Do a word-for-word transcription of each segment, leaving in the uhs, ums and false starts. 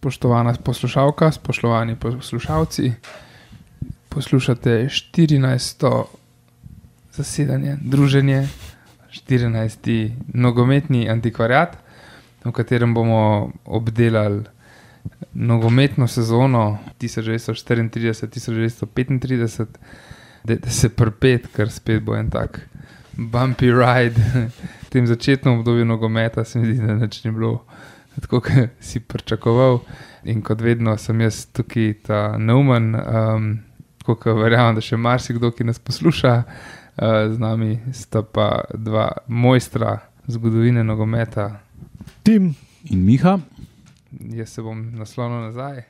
Spoštovana poslušalka, spoštovani poslušalci, poslušate štirinajsto zasedanje, druženje, štirinajsti nogometni antikvariat, v katerem bomo obdelali nogometno sezono tisoč devetsto štiriintrideset tisoč devetsto petintrideset, da se prpet, ker spet bo en tak bumpy ride. V tem začetnem obdobju nogometa se mi zdi, da nič ni bilo tako, kot si pričakoval. In kot vedno sem jaz tukaj ta neumen, um, tako kot verjamem, da še marsikdo, ki nas posluša. Uh, z nami sta pa dva mojstra zgodovine nogometa. Tim in Miha. Jaz se bom naslonil nazaj.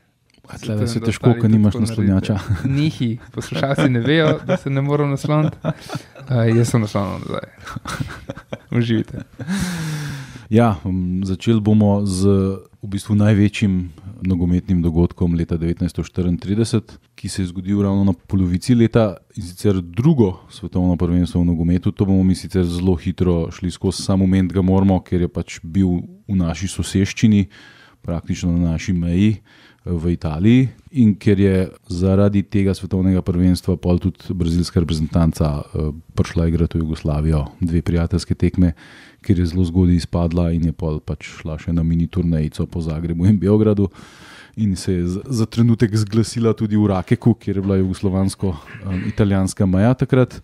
Tle, da se težko, ko nimaš naslonjača. Nihi, poslušalci ne vejo, da se ne moram nasloniti. Uh, jaz sem naslonil nazaj. Uživite. Ja, um, začeli bomo z v bistvu največjim nogometnim dogodkom leta devetnajststo štiriintrideset, ki se je zgodil ravno na polovici leta, in sicer drugo svetovno prvenstvo v nogometu. To bomo mi sicer zelo hitro šli skozi, sam moment ga moramo, ker je pač bil v naši soseščini, praktično na naši meji v Italiji, in ker je zaradi tega svetovnega prvenstva pol tudi brazilska reprezentanca uh, prišla igrati v Jugoslavijo, dve prijateljske tekme, ker je zelo zgodaj izpadla in je pol pač šla še na mini turnejico po Zagrebu in Beogradu in se je za, za trenutek zglasila tudi v Rakeku, kjer je bila jugoslovansko-italijanska um, meja takrat.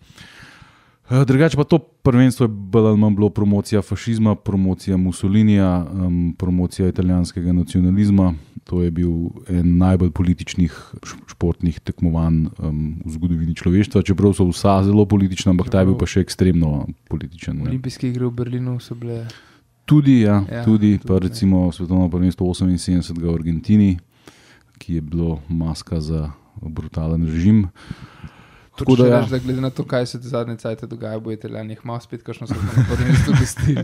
Drugače pa to prvenstvo je bolj ali manj bilo promocija fašizma, promocija Mussolinija, um, promocija italijanskega nacionalizma. To je bil en najbolj političnih športnih tekmovanj um, v zgodovini človeštva, čeprav so vsa zelo politična, ampak ta je bil pa še ekstremno političen. Olimpijske igre v Berlinu so bile... Tudi, ja, ja tudi, tudi pa recimo svetovno prvenstvo oseminsedemdeset v Argentini, ki je bilo maska za brutalen režim. Tako da, ja. Reč, da glede na to, kaj se zadnje cajte dogaja, bo Italijani jih malo spet kakšno svetovno prvenstvo gostili.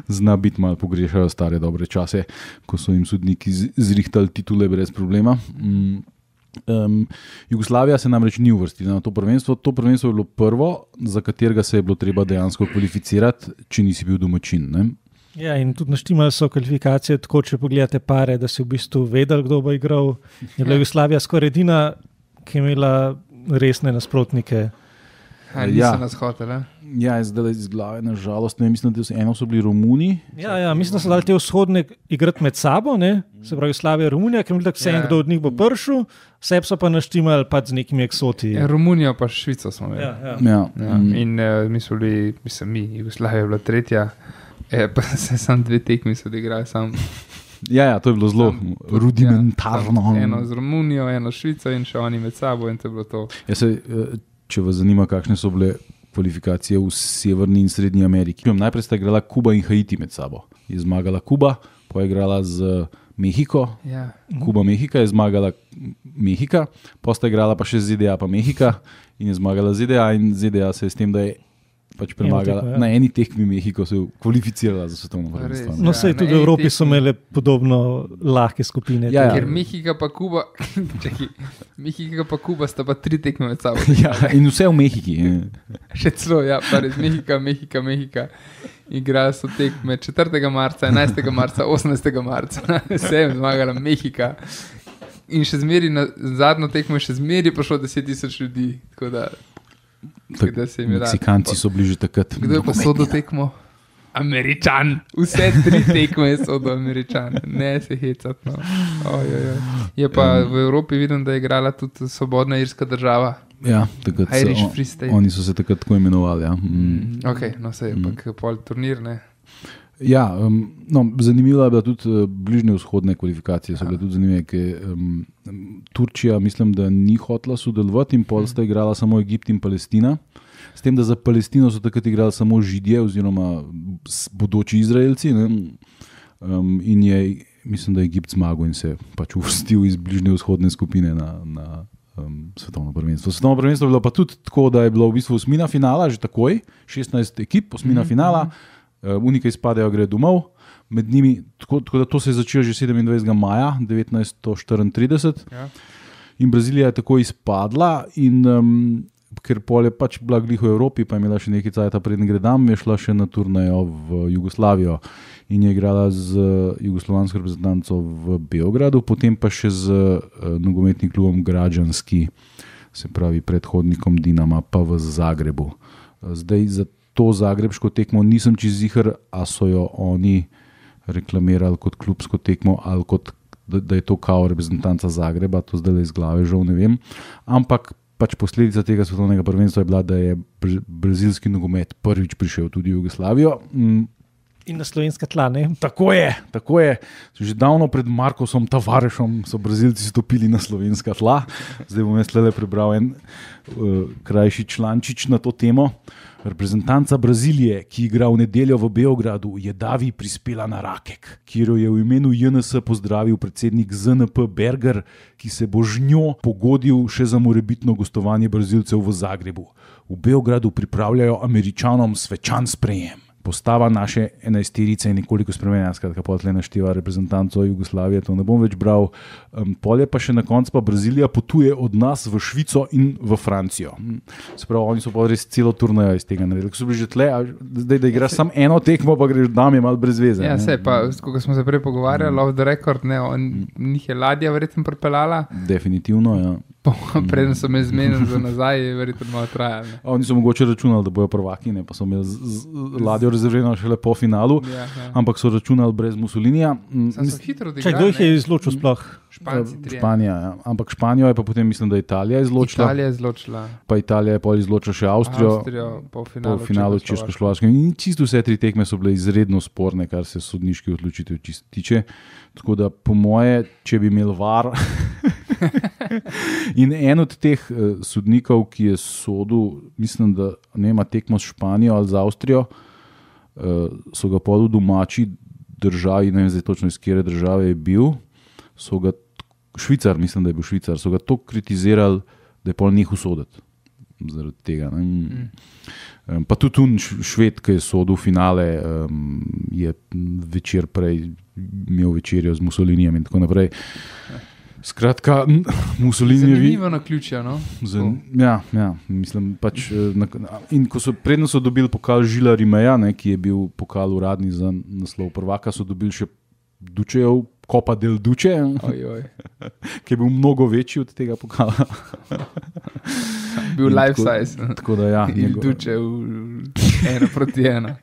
Zna biti malo pogrešajo stare dobre čase, ko so jim sodniki zrihtali titule brez problema. Mm. Um, Jugoslavija se namreč ni uvrstila na to prvenstvo. To prvenstvo je bilo prvo, za katerega se je bilo treba dejansko kvalificirati, če nisi bil domačin. Ne? Ja, in tudi naštimali so kvalifikacije tako, če pogledate pare, da si v bistvu vedel, kdo bo igral. Je bila Jugoslavija skoraj edina, ki je imela resne nasprotnike. Ha, niso ja. nas hoteli. Ja, zdaj iz glave, na žalost, ne, mislim, da eno so bili Romuni. Ja, ja, mislim, da so dali te vzhodne igrati med sabo, ne? Se pravi Jugoslavija, Romunija, ker je vse en, kdo od njih bo prišel, vse so pa naštimali pač z nekimi eksoti. Ja, Romunijo pa Švico smo imeli. Ja, ja. Ja. Ja. In uh, mi smo bili, mislim, mi, Jugoslavija je bila tretja, e, pa se sam dve tekmi so odigrali sam. Ja, ja, to je bilo zelo sam, rudimentarno. Ja, eno z Romunijo, eno s Švico in še oni med sabo in to je bilo to. Ja, se, če vas zanima, kakšne so bile kvalifikacije v Severni in Srednji Ameriki. Najprej sta igrala Kuba in Haiti med sabo. Je zmagala Kuba, pa je igrala z Mehiko. Ja. Kuba Mehika je zmagala Mehika, pa sta igrala pa še Z D A pa Mehika in je zmagala Z D A in Z D A se je s tem, da je pač premagala. Tekmo, ja. Na eni tekmi Mehiko se je kvalificirala za svetovno prvenstvo. No, sej tudi v Evropi so imeli podobno lahke skupine. Ja, ja. Ker Mehika pa Kuba, čaki, Mehika pa Kuba sta pa tri tekme med sabo. Ja, in vse v Mehiki. Še celo, ja, pa res Mehika, Mehika, Mehika. Igrali so tekme četrtega marca, enajstega marca, osemnajstega marca. Vse je zmagala Mehika. In še zmeri, na zadnjo tekmo še zmeri prišlo deset tisoč ljudi. Tako da... Tak, Meksikanci so bili že takrat. Kdo je pa sodo tekmo? Američan. Vse tri tekme je sodo Američan. Ne se hecati. No. Oj, oj, oj. Je pa um, v Evropi vidim, da je igrala tudi svobodna irska država. Ja, takrat Irish so, Free State. Oni so se takrat tako imenovali. Ja. Mm. Ok, no se je mm. pa pol turnir, ne? Ja, um, no, zanimivo je bila tudi uh, bližnje vzhodne kvalifikacije. So bile tudi zanimive, ker um, Turčija, mislim, da ni hotela sodelovati in pol sta igrala samo Egipt in Palestina. S tem, da za Palestino so takrat igrali samo Židje oziroma bodoči Izraelci. Ne? Um, in je, mislim, da je Egipt zmagal in se pač uvrstil iz bližnje vzhodne skupine na, na um, svetovno prvenstvo. Svetovno prvenstvo je bilo pa tudi tako, da je bilo v bistvu osmina finala, že takoj, šestnajst ekip, osmina mm-hmm. finala. Uh, Unika izpadejo, gre domov, med njimi, tako, tako da to se je začelo že sedemindvajsetega maja devetnajststo štiriintrideset. Ja. In Brazilija je tako izpadla in um, ker pol je pač bila glih v Evropi, pa je imela še nekaj cajta preden gredam, je šla še na turnejo v Jugoslavijo in je igrala z jugoslovansko reprezentanco v Beogradu, potem pa še z uh, nogometnim klubom Građanski, se pravi predhodnikom Dinama, pa v Zagrebu. Zdaj za to zagrebško tekmo nisem čez ziher, a so jo oni reklamirali kot klubsko tekmo ali kot, da, da je to kao reprezentanca Zagreba, to zdaj iz glave žal ne vem, ampak pač posledica tega svetovnega prvenstva je bila, da je brazilski nogomet prvič prišel tudi v Jugoslavijo. In na slovenska tla, ne? Tako je, tako je. Že davno pred Markosom Tavarešom so Brazilci stopili na slovenska tla. Zdaj bom jaz tle prebral en uh, krajši člančič na to temo. Reprezentanca Brazilije, ki igra v nedeljo v Beogradu, je davi prispela na Rakek, kjer jo je v imenu J N S pozdravil predsednik Z N P Berger, ki se bo z njo pogodil še za morebitno gostovanje Brazilcev v Zagrebu. V Beogradu pripravljajo Američanom svečan sprejem. Postava naše enajsterice je nekoliko spremenjena, skratka potle našteva reprezentanco Jugoslavije, to ne bom več bral. Um, polje pa še na koncu pa Brazilija potuje od nas v Švico in v Francijo. Se pravi, oni so pa res celo turnejo iz tega naredili. Ko so bili že tle, zdaj da igraš samo eno tekmo, pa greš dam je malo brez veze. Ja, se pa, ko smo se prej pogovarjali, mm. off the record, ne, on, njih je ladja verjetno pripeljala. Definitivno, ja. Preden so me zmenili za nazaj, je verjetno malo trajalo. Oni so mogoče računali, da bojo prvaki, ne, pa so imeli z, z ladjo rezervirano šele po finalu, ja, ja. Ampak so računali brez Mussolinija. Če kdo jih je izločil sploh? Španci, Španija, ja. Ampak Španijo je pa potem, mislim, da Italija izločila. Italija je izločila. Pa Italija je pol izločila še Avstrijo. Avstrijo po finalu, po finalu Češko-Slovaškem. In čisto vse tri tekme so bile izredno sporne, kar se sodniški odločitev tiče. Tako da po moje, če bi imel var... In en od teh uh, sodnikov, ki je sodil, mislim, da ne ima tekmo s Španijo ali z Avstrijo, uh, so ga pod v domači državi, ne vem zdaj točno iz kjere države je bil, so ga, Švicar, mislim, da je bil Švicar, so ga toliko kritizirali, da je pol nehal soditi zaradi tega. Mm. Um, pa tudi un Šved, ki je sodil finale, um, je večer prej imel večerjo z Mussolinijem in tako naprej. Skratka, Mussolini... Zanimivo na ključja, no? Zan, ja, ja, mislim, pač... Na, in ko so, predno so dobili pokal Žila Rimeja, ne, ki je bil pokal uradni za naslov prvaka, so dobili še Dučejev Copa del Duce, oj, oj. Ki je bil mnogo večji od tega pokala. Bil in life tako, size. Tako da, ja. Il njegov... Duce ena proti ena.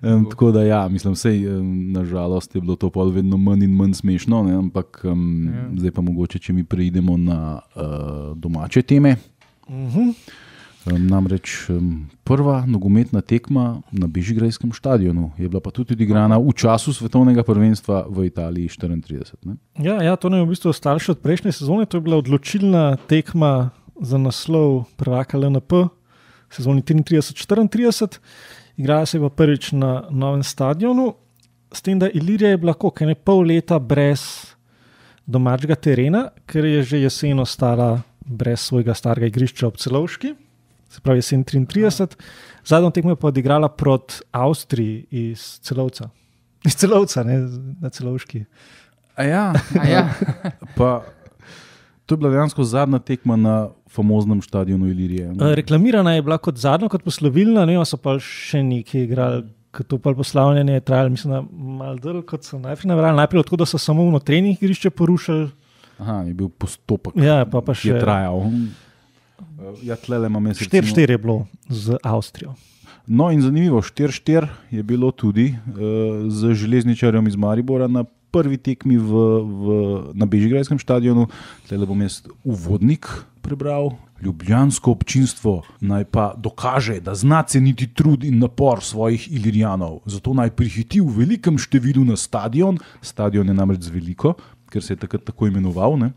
Um, tako da ja, mislim, sej, um, nažalost je bilo to pol vedno manj in manj smešno, ne, ampak um, ja. Zdaj pa mogoče, če mi preidemo na uh, domače teme. Uh-huh. Um, namreč um, prva nogometna tekma na Bežigrajskem stadionu je bila pa tudi odigrana v času svetovnega prvenstva v Italiji štiriintrideset. Ne? Ja, ja, to nam je v bistvu ostalo še od prejšnje sezone, to je bila odločilna tekma za naslov prvaka L N P sezoni triintrideset štiriintrideset. Igrala se je pa prvič na novem stadionu, s tem, da Ilirija je bila koliko, ne pol leta brez domačega terena, ker je že jesen ostala brez svojega starega igrišča ob Celovški, se pravi jesen triintrideset. Zadnjo tekmo je pa odigrala proti Avstriji iz Celovca. Iz Celovca, ne, na Celovški. A ja, A ja. pa to je bila dejansko zadnja tekma na famoznem stadionu Ilirije. Reklamirana je bila kot zadnja, kot poslovilna, ne vem, so pa še nekaj igrali, kot to pa poslavljanje je trajalo, mislim, da malo dlje, kot so najprej navrali. Najprej odkud, da so samo v trening igrišče porušili. Aha, je bil postopek, ja, pa pa še, ki je trajal. Ja, tlele imam jaz štiri štiri je bilo z Avstrijo. No in zanimivo, štiri štiri je bilo tudi uh, z železničarjem iz Maribora na prvi tekmi v, v, na Bežigrajskem stadionu. Tlele bom jaz uvodnik prebral. Ljubljansko občinstvo naj pa dokaže, da zna ceniti trud in napor svojih Ilirijanov. Zato naj prihiti v velikem številu na stadion, stadion je namreč veliko, ker se je takrat tako imenoval, ne?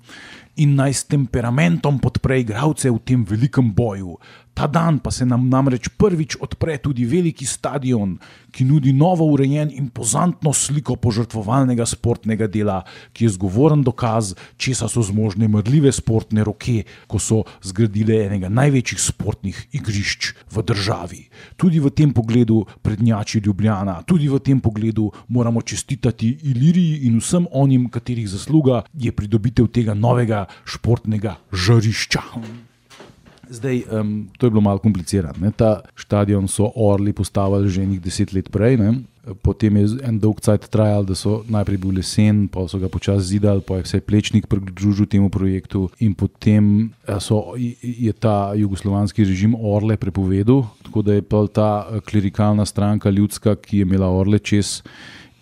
In naj s temperamentom podpre igralce v tem velikem boju. Ta dan pa se nam namreč prvič odpre tudi veliki stadion, ki nudi novo urejen in impozantno sliko požrtvovalnega sportnega dela, ki je zgovoren dokaz, česa so zmožne mrljive sportne roke, ko so zgradile enega največjih sportnih igrišč v državi. Tudi v tem pogledu prednjači Ljubljana, tudi v tem pogledu moramo čestitati Iliriji in vsem onim, katerih zasluga je pridobitev tega novega športnega žarišča. Zdaj, um, to je bilo malo komplicirano. Ne? Ta štadion so Orli postavili že nekaj deset let prej. Ne? Potem je en dolg cajt trajal, da so najprej bil lesen, pa so ga počasi zidali, pa je vse Plečnik pridružil temu projektu in potem so, je ta jugoslovanski režim Orle prepovedal, tako da je pa ta klerikalna stranka ljudska, ki je imela Orle čez,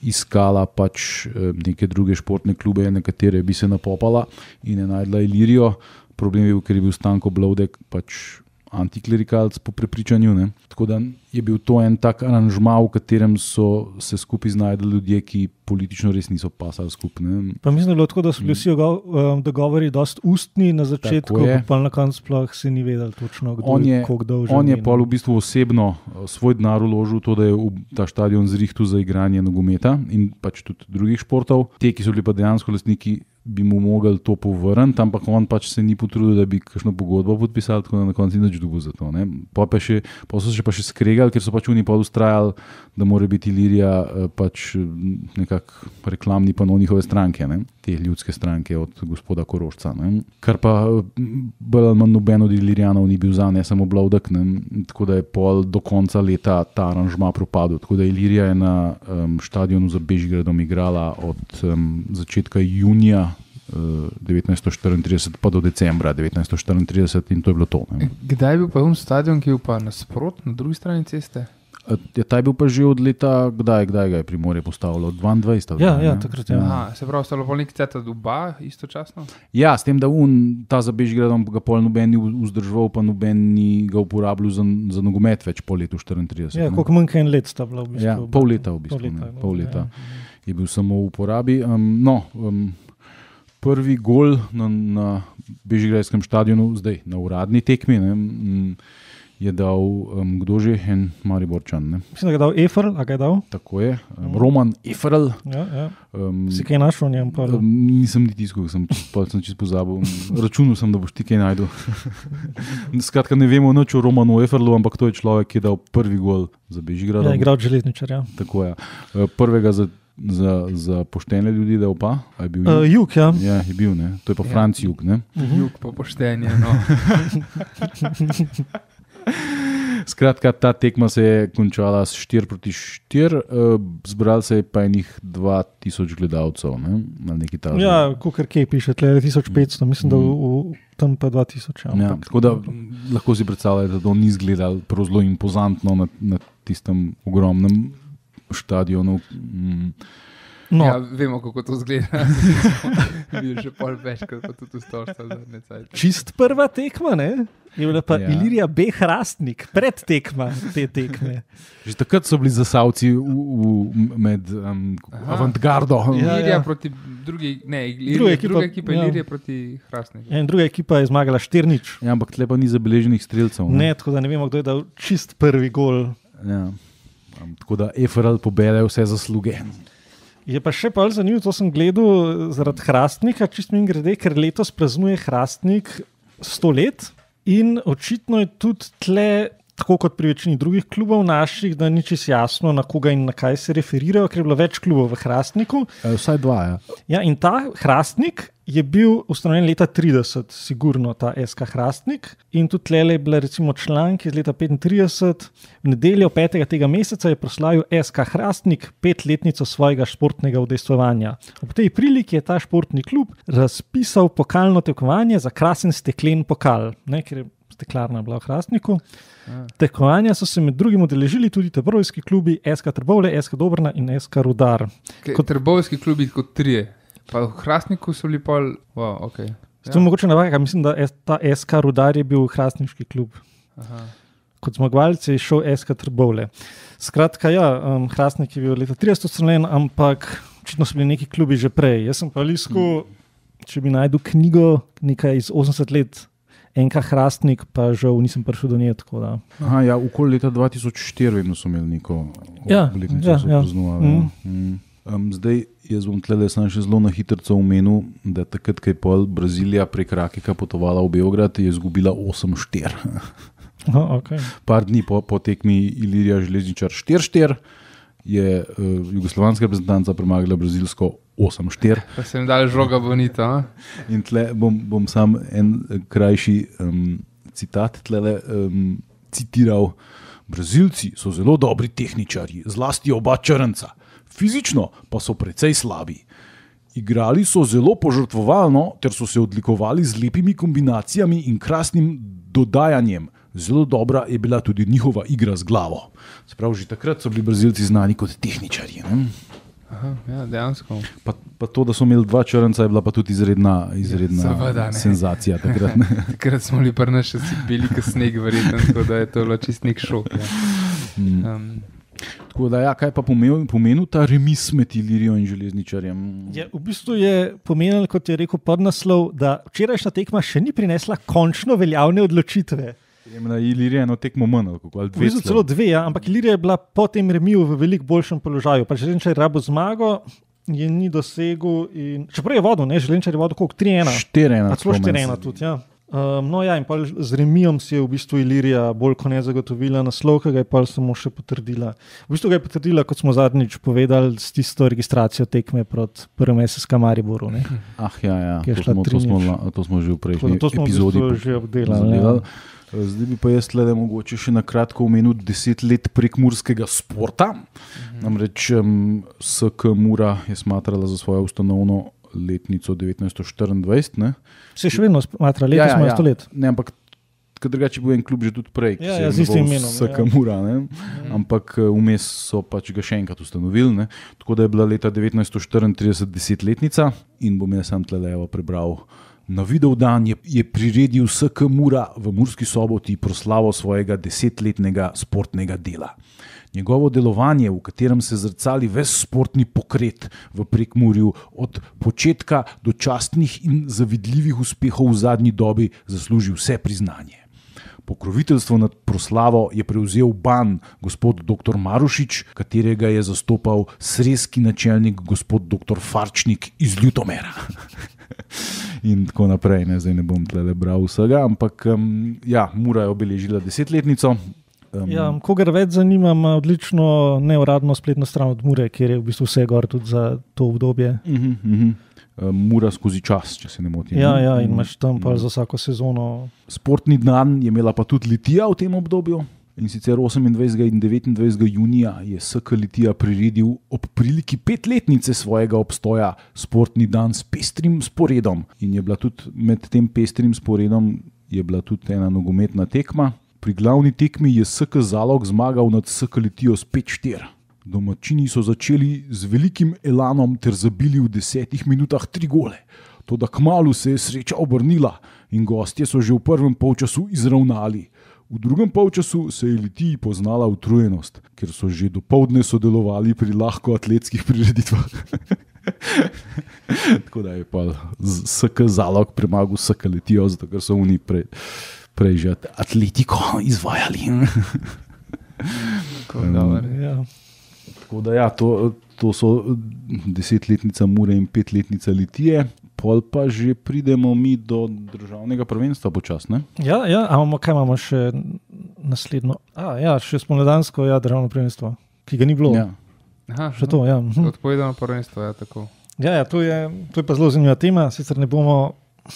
iskala pač neke druge športne klube, na katere bi se napopala in je najdla Ilirijo. Problem je bil, ker je bil Stanko Blovdek pač antiklerikalc po prepričanju. Ne? Tako da je bil to en tak aranžma, v katerem so se skupaj znajdli ljudje, ki politično res niso pasali skupaj. Pa mislim, da je bilo tako, da so bili vsi dogovori dosti ustni na začetku, pa na koncu sploh se ni vedel točno, kdo je koliko dolžen. On je pa v bistvu osebno svoj denar vložil to, da je v ta štadion zrihtu za igranje nogometa in pač tudi drugih športov. Te, ki so bili pa dejansko lastniki, bi mu mogli to povrniti, ampak on pač se ni potrudil, da bi kakšno pogodbo podpisal, tako da na koncu ni nič dobil za to. Pa, pa, še, pa so se pa še skregali, ker so pač oni pa ustrajali, da mora biti Ilirija pač nekako reklamni pano njihove stranke, ne? Te ljudske stranke od gospoda Korošca. Ne? Kar pa bolj ali manj noben od Ilirijanov ni bil za, ne samo Blovdek, ne? Tako da je pol do konca leta ta aranžma propadel. Tako da Ilirija je na um, štadionu za Bežigradom igrala od um, začetka junija devetnajststo štiriintrideset pa do decembra devetnajststo štiriintrideset in to je bilo to. Ne. Kdaj je bil pa un stadion, ki je bil pa nasprot, na drugi strani ceste? Je ta je bil pa že od leta, kdaj, kdaj ga je Primorje postavilo? dvaindvajset. Ja, ja, takrat je. Ja. Se pravi, stalo pa nekaj ceta oba istočasno? Ja, s tem, da un, ta za Bežigradom ga pol noben ni vzdržval, pa noben ni ga uporabljal za, za nogomet več po letu štiriintrideset. Ja, koliko manjka en let sta bila v bistvu. Ja, pol leta v bistvu. Pol leta, ne, pol leta ja. Je bil samo v uporabi. Um, no, um, prvi gol na, na Bežigradskem štadionu, zdaj na uradni tekmi, ne, je dal um, kdo že, en Mariborčan. Ne. Mislim, da ga je dal Eferl, a ga je dal? Tako je, um, Roman Eferl. Ja, ja. Um, si kaj našel v njem? Um, nisem ni tiskal, sem, sem čisto pozabil. Računal sem, da boš ti kaj najdel. Skratka, ne vemo nič o Romanu Eferlu, ampak to je človek, ki je dal prvi gol za Bežigradom. Ja, igral železničar, ja. Tako je. Prvega za Za, za poštene ljudi, da opa? Je bil Jug? Uh, Jug, ja. Ja, je bil, ne. To je pa ja. Franc Jug, ne. Jug pa poštenje, no. Skratka, ta tekma se je končala s štiri proti štiri, uh, zbrali se je pa enih dva tisoč gledalcev, ne, na neki tažni. Ja, kakor kaj piše, tle je tisoč petsto, mislim, da v, v, tam pa dva tisoč. Ja, ja, tako da lahko si predstavljate, da to ni izgledalo prav zelo impozantno na, na tistem ogromnem štadionu. Mm. No. Ja, vemo, kako to zgleda. Videl že pol več, kot tudi v Storstvu zadnje cajte. Čist prva tekma, ne? Je bila pa ja. Ilirija B. Hrastnik, pred tekma te tekme. Že takrat so bili zasavci v, v, med um, avantgardo. Ja, Ilirija ja. proti drugi, ne, Ilirija, druga ekipa, druga ekipa ja. Ilirija proti Hrastniku. Ja, in druga ekipa je zmagala štiri nič. Ja, ampak tle pa ni zabeleženih strelcev. Ne? ne, tako da ne vemo, kdo je dal čist prvi gol. Ja. Um, tako da Eferl pobere vse zasluge. Je pa še bolj zanimivo, to sem gledal zaradi Hrastnika, čist mi grede, ker letos praznuje Hrastnik sto let in očitno je tudi tle, tako kot pri večini drugih klubov naših, da ni čisto jasno, na koga in na kaj se referirajo, ker je bilo več klubov v Hrastniku. E, vsaj dva, ja. Ja, in ta Hrastnik je bil ustanovljen leta trideset, sigurno ta S K Hrastnik, in tudi tle je bila recimo članek iz leta petintrideset, v nedeljo petega tega meseca je proslavil S K Hrastnik petletnico svojega športnega udejstvovanja. Ob tej priliki je ta športni klub razpisal pokalno tekmovanje za krasen steklen pokal, ne, ker je steklarna bila v Hrastniku. Tekmovanja so se med drugim udeležili tudi trbovski klubi S K Trbovlje, S K Dobrna in S K Rudar. Kot trbovski klubi kot trije. Pa v Hrastniku so bili pol, wow, ok. Ja. To je mogoče navaka, mislim, da ta S K Rudar je bil Hrastniški klub. Aha. Kot zmagovalec je šel S K Trbovlje. Skratka, ja, um, Hrastnik je bil leta trideset ustanovljen, ampak očitno so bili neki klubi že prej. Jaz sem pa liskal, hmm. če bi najdel knjigo nekaj iz osemdeset let, N K Hrastnik, pa žal nisem prišel do nje, tako da. Aha, ja, okoli leta dva tisoč štiri vedno so imeli neko ja, obletnico, ja, so ja. praznovali. Mm. Mm. Um, zdaj, jaz bom tlele sam še zelo na hitrco omenil, da takrat, ko je pol Brazilija prek Rakeka potovala v Beograd, je izgubila osem štiri. Aha, okay. Par dni po, po tekmi Ilirija železničar štiri štiri je uh, jugoslovanska reprezentanca premagala brazilsko osem štiri. Pa se jim dali žoga bonita. In tle bom, bom sam en krajši um, citat tlele um, citiral. Brazilci so zelo dobri tehničarji, zlasti oba črnca. Fizično pa so precej slabi. Igrali so zelo požrtvovalno, ter so se odlikovali z lepimi kombinacijami in krasnim dodajanjem. Zelo dobra je bila tudi njihova igra z glavo. Sprav, že takrat so bili Brazilci znani kot tehničarji. Ne? Aha, ja, dejansko. Pa, pa to, da so imeli dva črnca, je bila pa tudi izredna, izredna Seveda, senzacija takrat. Takrat smo bili prna še si bili kot sneg, verjetno, tako da je to bilo čist nek šok. Ja. Um, Tako da, ja, kaj pa pomenil, pomenil ta remis med Ilirijo in Železničarjem? Je, v bistvu je pomenil, kot je rekel podnaslov, da včerajšnja tekma še ni prinesla končno veljavne odločitve. Ilirija je eno tekmo manj, ali v bistvu celo dve, ja, ampak Ilirija je bila po tem remiju v veliko boljšem položaju. Pa Železničar je rabo zmago, je ni dosegel. In... Čeprav je vodil, ne, Železničar je vodil koliko? tri ena. štiri ena. Pa celo štiri ena tudi, ja. Um, no ja, in pa z remijom si je v bistvu Ilirija bolj kot ne zagotovila naslov, ki ga je pa samo še potrdila. V bistvu ga je potrdila, kot smo zadnjič povedali, s tisto registracijo tekme proti prvem S S K Mariboru. Ne? Ah ja, ja. To, smo, to, smo, to smo že v prejšnji to smo epizodi v že obdelali. Ja. Zdaj bi pa jaz tle mogoče še na kratko omenil deset let prekmurskega sporta. Mhm. Namreč um, S K Mura je smatrala za svojo ustanovno letnico devetnajststo štiriindvajset. Ne? Se še vedno smatra letos, ja, ja, ja. let. Ne, ampak drugače bil en klub že tudi prej, ja, ja, z istim imenom. S K Mura, ne? Ja. Ampak vmes so pač ga še enkrat ustanovili. Ne? Tako da je bila leta devetnajststo štiriintrideset desetletnica in bom jaz sam tlelevo prebral. Na videl dan je, je priredil S K Mura v Murski Soboti proslavo svojega desetletnega sportnega dela. Njegovo delovanje, v katerem se zrcali ves sportni pokret v Prekmurju, od početka do častnih in zavidljivih uspehov v zadnji dobi, zasluži vse priznanje. Pokroviteljstvo nad proslavo je prevzel ban gospod doktor Marušič, katerega je zastopal srezki načelnik gospod doktor Farčnik iz Ljutomera. In tako naprej, ne, zdaj ne bom tle bral vsega, ampak um, ja, Mura je obeležila desetletnico. Um, ja, kogar več zanima, ima odlično neuradno spletno stran od Mure, kjer je v bistvu vse gor tudi za to obdobje. Uh -huh, uh -huh. Mura skozi čas, če se ne motim. Ja, ja, in imaš tam pa za vsako sezono. Sportni dan je imela pa tudi Litija v tem obdobju. In sicer osemindvajsetega in devetindvajsetega junija je S K Litija priredil ob priliki petletnice svojega obstoja sportni dan s pestrim sporedom. In je bila tudi med tem pestrim sporedom je bila tudi ena nogometna tekma. Pri glavni tekmi je S K Zalog zmagal nad S K Litijo s pet štiri. Domačini so začeli z velikim elanom ter zabili v desetih minutah tri gole. Toda kmalu se je sreča obrnila in gostje so že v prvem polčasu izravnali. V drugem polčasu se je Litiji poznala utrujenost, ker so že dopoldne sodelovali pri lahkoatletskih prireditvah. Tako da je pa S K Zalog premagal S K Litijo, zato ker so oni prej, prej že atletiko izvajali. um, ja. Tako da ja, to, to so desetletnica Mure in petletnica Litije. Pol pa že pridemo mi do državnega prvenstva počasne. Ja, ja, ampak kaj imamo še naslednjo? A, ja, še spomladansko, ja, državno prvenstvo, ki ga ni bilo. Ja. Aha, še to, ja. Odpovedano prvenstvo, ja, tako. Ja, ja, to je, to je pa zelo zanimiva tema, sicer ne bomo,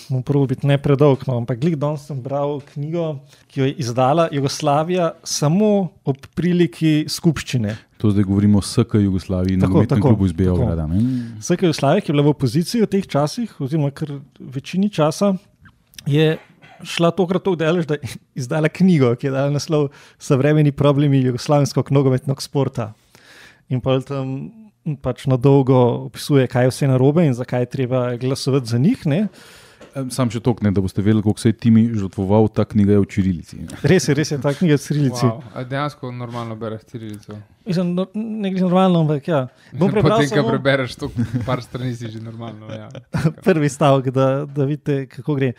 bomo prvo biti ne predolg, no, ampak glih danes sem bral knjigo, ki jo je izdala Jugoslavija samo ob priliki skupščine. To zdaj govorimo o S K Jugoslaviji, nogometnem klubu iz Beograda. S K Jugoslavija, ki je bila v opoziciji v teh časih, oziroma kar večini časa, je šla tokrat to delež, da je izdala knjigo, ki je dala naslov Savremeni problemi jugoslavenskog nogometnog sporta. In pa tam pač na dolgo opisuje, kaj je vse narobe in zakaj je treba glasovati za njih, ne? Sam še tokne, da boste vedeli, koliko se je Timi žrtvoval, ta knjiga je v čirilici. Res je, res je, ta knjiga je v čirilici. Wow. A dejansko normalno bereš čirilico? Mislim, no, ne gre normalno, ampak ja. Bom prebral Potem, samo... ko prebereš to par strani, si že normalno, ja. Prvi stavek, da, da vidite, kako gre.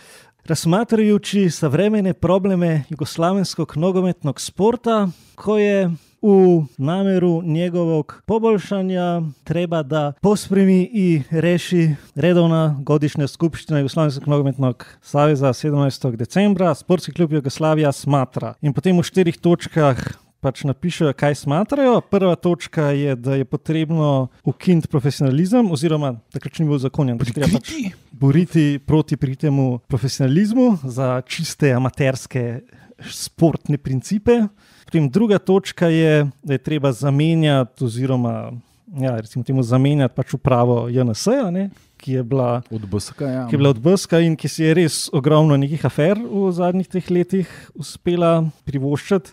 Razmatrajući savremene probleme jugoslavenskog nogometnog sporta, koje u nameru njegovog poboljšanja treba da pospremi i reši redovna godišnja skupština Jugoslavenskog nogometnog saveza sedemnajstog decembra. Sportski klub Jugoslavija smatra. In potem v štirih točkah pač napišejo, kaj smatrajo. Prva točka je, da je potrebno ukiniti profesionalizem, oziroma takrat ni bil zakonjen, da se treba pač boriti proti temu profesionalizmu za čiste amaterske športne principe. Potem druga točka je, da je treba zamenjati oziroma ja, recimo temu zamenjati pač upravo J N S-ja, ne, ki je bila od B S K, ja. ki je bila od B S K in ki si je res ogromno nekih afer v zadnjih teh letih uspela privoščiti.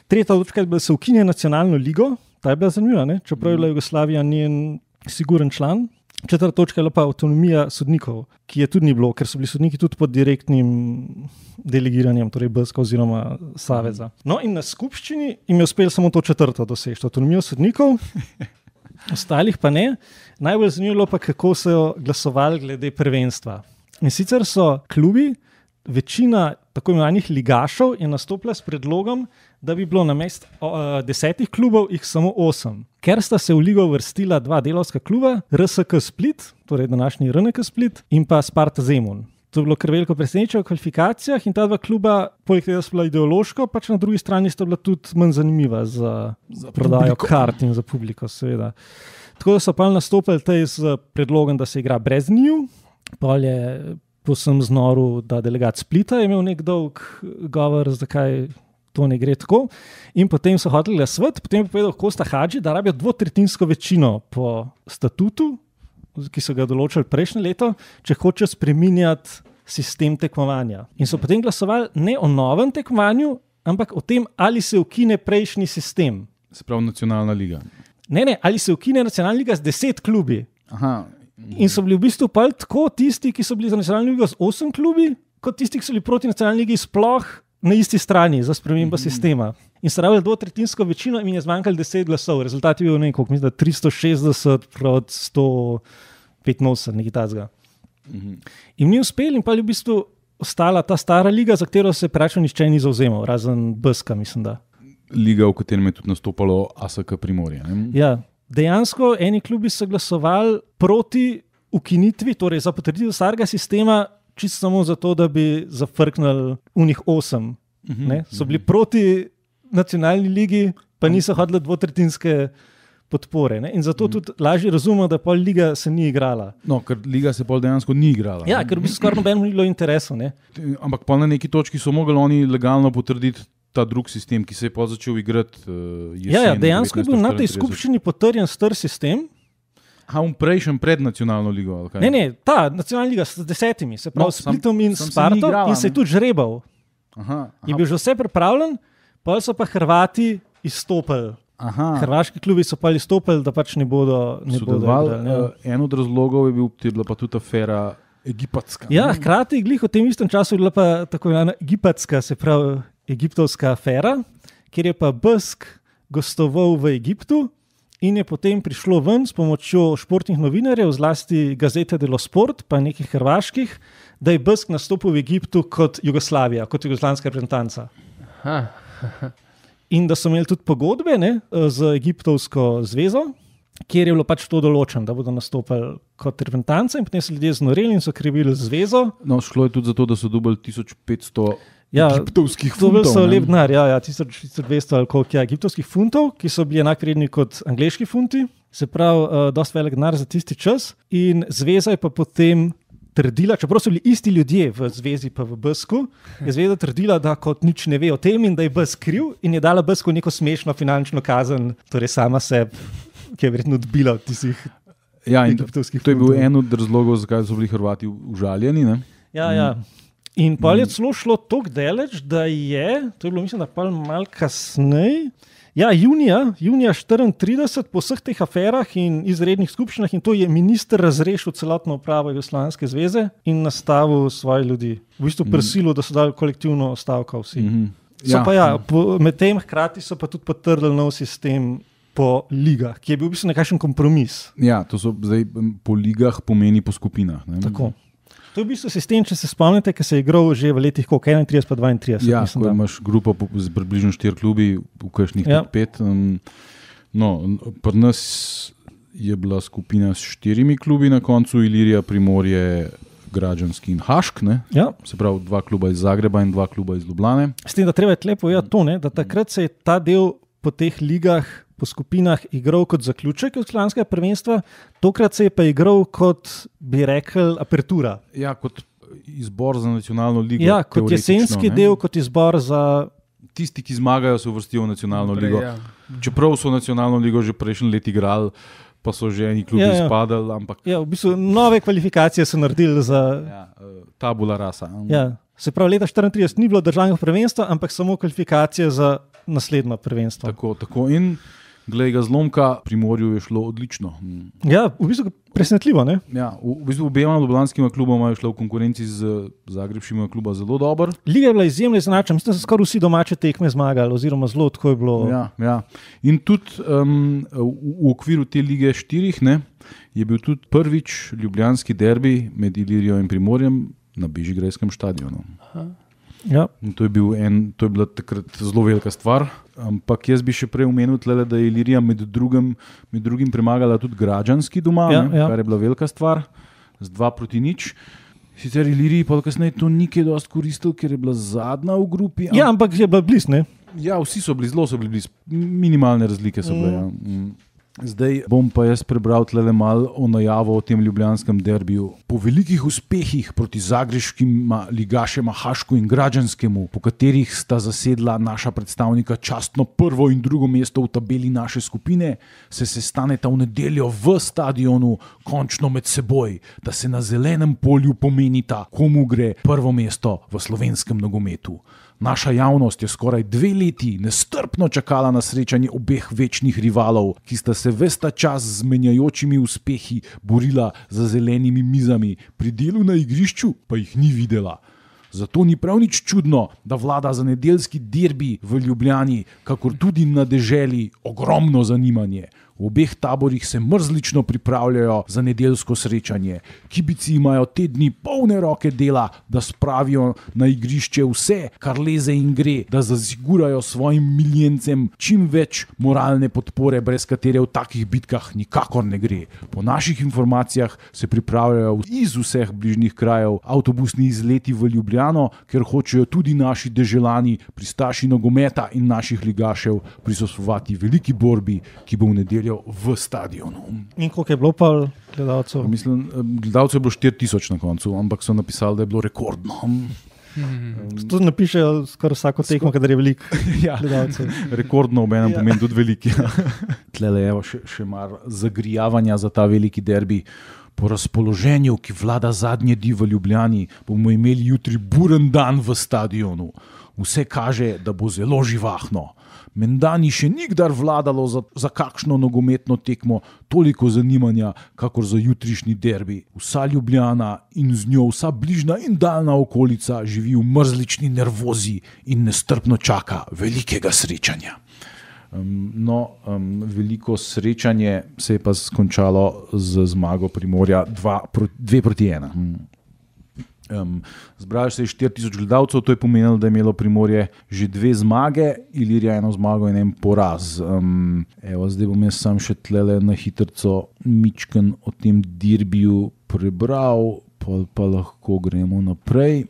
Tretja točka je, da se ukinja nacionalno ligo, ta je bila zanimiva, ne? Čeprav je bila Jugoslavija njen siguren član. Četrta točka je pa avtonomija sodnikov, ki je tudi ni bilo, ker so bili sodniki tudi pod direktnim delegiranjem, torej B S K oziroma Saveza. No in na skupščini jim je uspelo samo to četrto doseči, avtonomijo sodnikov, ostalih pa ne. Najbolj zanimivo pa, kako so glasovali glede prvenstva. In sicer so klubi, večina tako imenovanih ligašov je nastopila s predlogom, da bi bilo namesto uh, desetih klubov jih samo osem. Ker sta se v ligo vrstila dva delavska kluba, R S K Split, torej današnji R N K Split, in pa Sparta Zemun. To je bilo kar veliko presenečenje v kvalifikacijah in ta dva kluba, poleg tega so bila ideološko, pač na drugi strani sta bila tudi manj zanimiva za, za prodajo kart in za publiko, seveda. Tako da so pa nastopili tej z predlogom, da se igra brez njiju, pol je posem znoru, da delegat Splita je imel nek dolg govor, zakaj to ne gre tako. In potem so hoteli glasovati, potem je povedal Kosta Hadži, da rabijo dvotretjinsko večino po statutu, ki so ga določili prejšnje leto, če hoče spreminjati sistem tekmovanja. In so potem glasovali ne o novem tekmovanju, ampak o tem, ali se ukine prejšnji sistem. Se pravi nacionalna liga. Ne, ne, ali se ukine nacionalna liga z deset klubi. Aha. In so bili v bistvu pa tako tisti, ki so bili za nacionalno ligo z osem klubi, kot tisti, ki so bili proti nacionalni ligi sploh na isti strani za spremembo mm-hmm. sistema. In so rabili dvotretjinsko večino in je zmanjkalo deset glasov. Rezultat je bil nekaj, mislim, da tristo šestdeset proti sto petinosemdeset, nekaj takega. Mm-hmm. In ni uspel in pa je v bistvu ostala ta stara liga, za katero se praktično nihče ni zavzemal, razen B S K, mislim da. Liga, v katerem je tudi nastopalo A S K Primorje. Ne? Ja. Dejansko eni klubi so glasovali proti ukinitvi, torej za potrditev starega sistema, čisto samo zato, da bi zafrknili unih osem. Uh-huh, so bili uh-huh. proti nacionalni ligi, pa niso hodili dvotretjinske podpore. Ne? In zato uh-huh. tudi lažje razumemo, da pol liga se ni igrala. No, ker liga se pol dejansko ni igrala. Ja, ne? Ker bi se skoraj nobenemu ni bilo interesu. Ne? Ampak pol na neki točki so mogli oni legalno potrditi ta drug sistem, ki se je pa začel igrati uh, jesen. Ja, ja, dejansko je bil na tej skupščini potrjen star sistem. Ha, on prejšen pred nacionalno ligo? Ali kaj? Ne, ne, ta nacionalna liga s desetimi, se pravi no, s Splitom in Sparto in se je tudi žrebal. Aha, aha. Je bil že vse pripravljen, pa so pa Hrvati izstopili. Aha. Hrvaški klubi so pa izstopili, da pač ne bodo ne bodo igrali. Ja. En od razlogov je bil, je bila pa tudi afera egipatska. Ja, hkrati glih v tem istem času je bila pa tako ena egipatska, se pravi egiptovska afera, kjer je pa B S K gostoval v Egiptu in je potem prišlo ven s pomočjo športnih novinarjev, zlasti Gazete dello Sport, pa nekih hrvaških, da je B S K nastopil v Egiptu kot Jugoslavija, kot jugoslavijska reprezentanca. In da so imeli tudi pogodbe ne, z Egiptovsko zvezo, kjer je bilo pač to določeno, da bodo nastopili kot reprezentanca in potem so ljudje znoreli in so krivili zvezo. No, šlo je tudi zato, da so dobili tisoč petsto Ja, egiptovskih funtov. To so lep denar, ja, ja, tisoč dvesto ali koliko je egiptovskih funtov, ki so bili enak vredni kot angleški funti, se pravi, uh, dosti velik denar za tisti čas. In zveza je pa potem trdila, čeprav so bili isti ljudje v zvezi pa v B S K-u, je zveza trdila, da kot nič ne ve o tem in da je B S K kriv in je dala B S K-u neko smešno finančno kazen, torej sama sebi, ki je verjetno odbila od tistih ja, egiptovskih funtov. To je bil funtov. en od razlogov, zakaj so bili Hrvati užaljeni. Ne? Ja, ja. In pa je celo šlo toliko daleč, da je, to je bilo mislim, da pa malo kasneje, ja, junija, junija štiriintrideset, po vseh teh aferah in izrednih skupščinah in to je minister razrešil celotno upravo Jugoslavijske zveze in nastavil svoje ljudi. V bistvu prisilil, da so dali kolektivno stavko vsi. Mm-hmm. So ja. pa ja, po, med tem hkrati so pa tudi potrdili nov sistem po ligah, ki je bil v bistvu nekakšen kompromis. Ja, to so zdaj po ligah pomeni po skupinah. Ne? Tako. To je v bistvu sistem, če se spomnite, ki se je igral že v letih koliko, enaintrideset pa dvaintrideset. Ja, mislim, ko da. imaš grupo z približno štiri klubi, v kakšnih ja. pet. Um, no, pri nas je bila skupina s štirimi klubi na koncu, Ilirija, Primorje, Građanski in Hašk, ne? Ja. Se pravi dva kluba iz Zagreba in dva kluba iz Ljubljane. S tem, da treba je tlepo povedati to, ne, da takrat se je ta del po teh ligah, po skupinah igral kot zaključek Jugoslavijskega prvenstva, tokrat se je pa igral kot, bi rekel, apertura. Ja, kot izbor za nacionalno ligo. Ja, kot jesenski ne? del, kot izbor za... Tisti, ki zmagajo, se uvrstijo v nacionalno Naprej, ligo. ja. Čeprav so nacionalno ligo že prejšnji let igrali, pa so že eni klubi Ja, ja. izpadali, ampak Ja, v bistvu nove kvalifikacije so naredili za... ja, tabula rasa. Ja, se pravi, leta štiriintrideset ni bilo državnega prvenstva, ampak samo kvalifikacije za naslednjo prvenstvo. Tako, tako. In glej ga zlomka, Primorju je šlo odlično. Ja, v bistvu presenetljivo, ne? Ja, v, v bistvu obema ljubljanskima kluboma je šlo v konkurenci z Zagrebškima kluba zelo dobro. Liga je bila izjemno izenačena, mislim, da so skoraj vsi domače tekme zmagali, oziroma zelo tako je bilo. Ja, ja. In tudi um, v, v okviru te lige štirih ne, je bil tudi prvič ljubljanski derbi med Ilirijo in Primorjem na Bežigrajskem stadionu. Ja. In to je, bil en, to je bila takrat zelo velika stvar. Ampak jaz bi še prej omenil, tle, da je Ilirija med drugim, med drugim premagala tudi Građanski doma, Ja, ne, ja. kar je bila velika stvar, z dva proti nič. Sicer Iliriji pa kasneje to ni kaj dosti koristil, ker je bila zadnja v grupi. Ja, ampak je bila blizu, ne? Ja, vsi so bili, zelo so bili blizu, minimalne razlike so bile. Ja. Mm. Zdaj bom pa jaz prebral tle malo o najavo o tem ljubljanskem derbiju. Po velikih uspehih proti zagrebškim ligašema Hašku in Građanskemu, po katerih sta zasedla naša predstavnika častno prvo in drugo mesto v tabeli naše skupine, se sestaneta v nedeljo v stadionu končno med seboj, da se na zelenem polju pomenita, komu gre prvo mesto v slovenskem nogometu. Naša javnost je skoraj dve leti nestrpno čakala na srečanje obeh večnih rivalov, ki sta se ves ta čas z menjajočimi uspehi borila za zelenimi mizami, pri delu na igrišču pa jih ni videla. Zato ni prav nič čudno, da vlada za nedeljski derbi v Ljubljani, kakor tudi na deželi, ogromno zanimanje. V obeh taborih se mrzlično pripravljajo za nedeljsko srečanje. Kibici imajo te dni polne roke dela, da spravijo na igrišče vse, kar leze in gre, da zasigurajo svojim miljencem čim več moralne podpore, brez katere v takih bitkah nikakor ne gre. Po naših informacijah se pripravljajo iz vseh bližnjih krajev avtobusni izleti v Ljubljano, ker hočejo tudi naši deželani, pristaši nogometa in naših ligašev prisostvovati veliki borbi, ki bo v nedeljo v stadionu. In koliko je bilo pa gledalcev? Mislim, gledalcev je bilo štiri tisoč na koncu, ampak so napisali, da je bilo rekordno. To napišejo skoraj vsako tekmo, kadar je veliko Ja. gledalcev. Rekordno obenem Ja. pomeni tudi veliki. Tlele je še, še mar zagrijavanja za ta veliki derbi. Po razpoloženju, ki vlada zadnje dni v Ljubljani, bomo imeli jutri buren dan v stadionu. Vse kaže, da bo zelo živahno. Menda ni še nikdar vladalo za, za kakšno nogometno tekmo toliko zanimanja, kakor za jutrišnji derbi. Vsa Ljubljana in z njo vsa bližnja in daljna okolica živi v mrzlični nervozi in nestrpno čaka velikega srečanja. Um, no, um, veliko srečanje se je pa skončalo z zmago Primorja dva, dve proti ena. Um, zbrali se je štiri tisoč gledalcev, to je pomenilo, da je imelo Primorje že dve zmage, Ilirija eno zmago in en poraz. Um, evo, zdaj bom jaz sam še tlele na hitrco mičken o tem derbiju prebral, pa, pa lahko gremo naprej.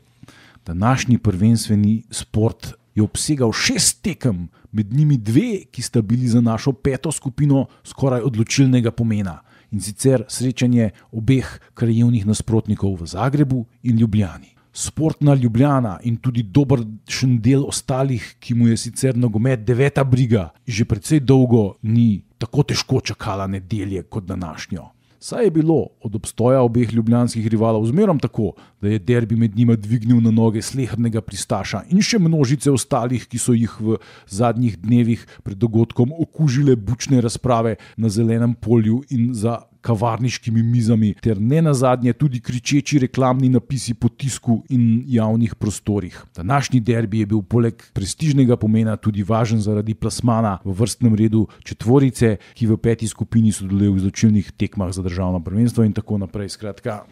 Današnji prvenstveni sport je obsegal šest tekem, med njimi dve, ki sta bili za našo peto skupino skoraj odločilnega pomena. In sicer srečanje obeh krajevnih nasprotnikov v Zagrebu in Ljubljani. Sportna Ljubljana in tudi dobršen del ostalih, ki mu je sicer nogomet deveta briga, že precej dolgo ni tako težko čakala nedelje kot današnjo. Saj je bilo od obstoja obeh ljubljanskih rivalov zmerom tako, da je derbi med njima dvignil na noge slehernega pristaša in še množice ostalih, ki so jih v zadnjih dnevih pred dogodkom okužile bučne razprave na zelenem polju in za kavarniškimi mizami, ter ne nazadnje tudi kričeči reklamni napisi po tisku in javnih prostorih. Današnji derbi je bil poleg prestižnega pomena tudi važen zaradi plasmana v vrstnem redu četvorice, ki v peti skupini sodeluje v izločilnih tekmah za državno prvenstvo in tako naprej. Skratka,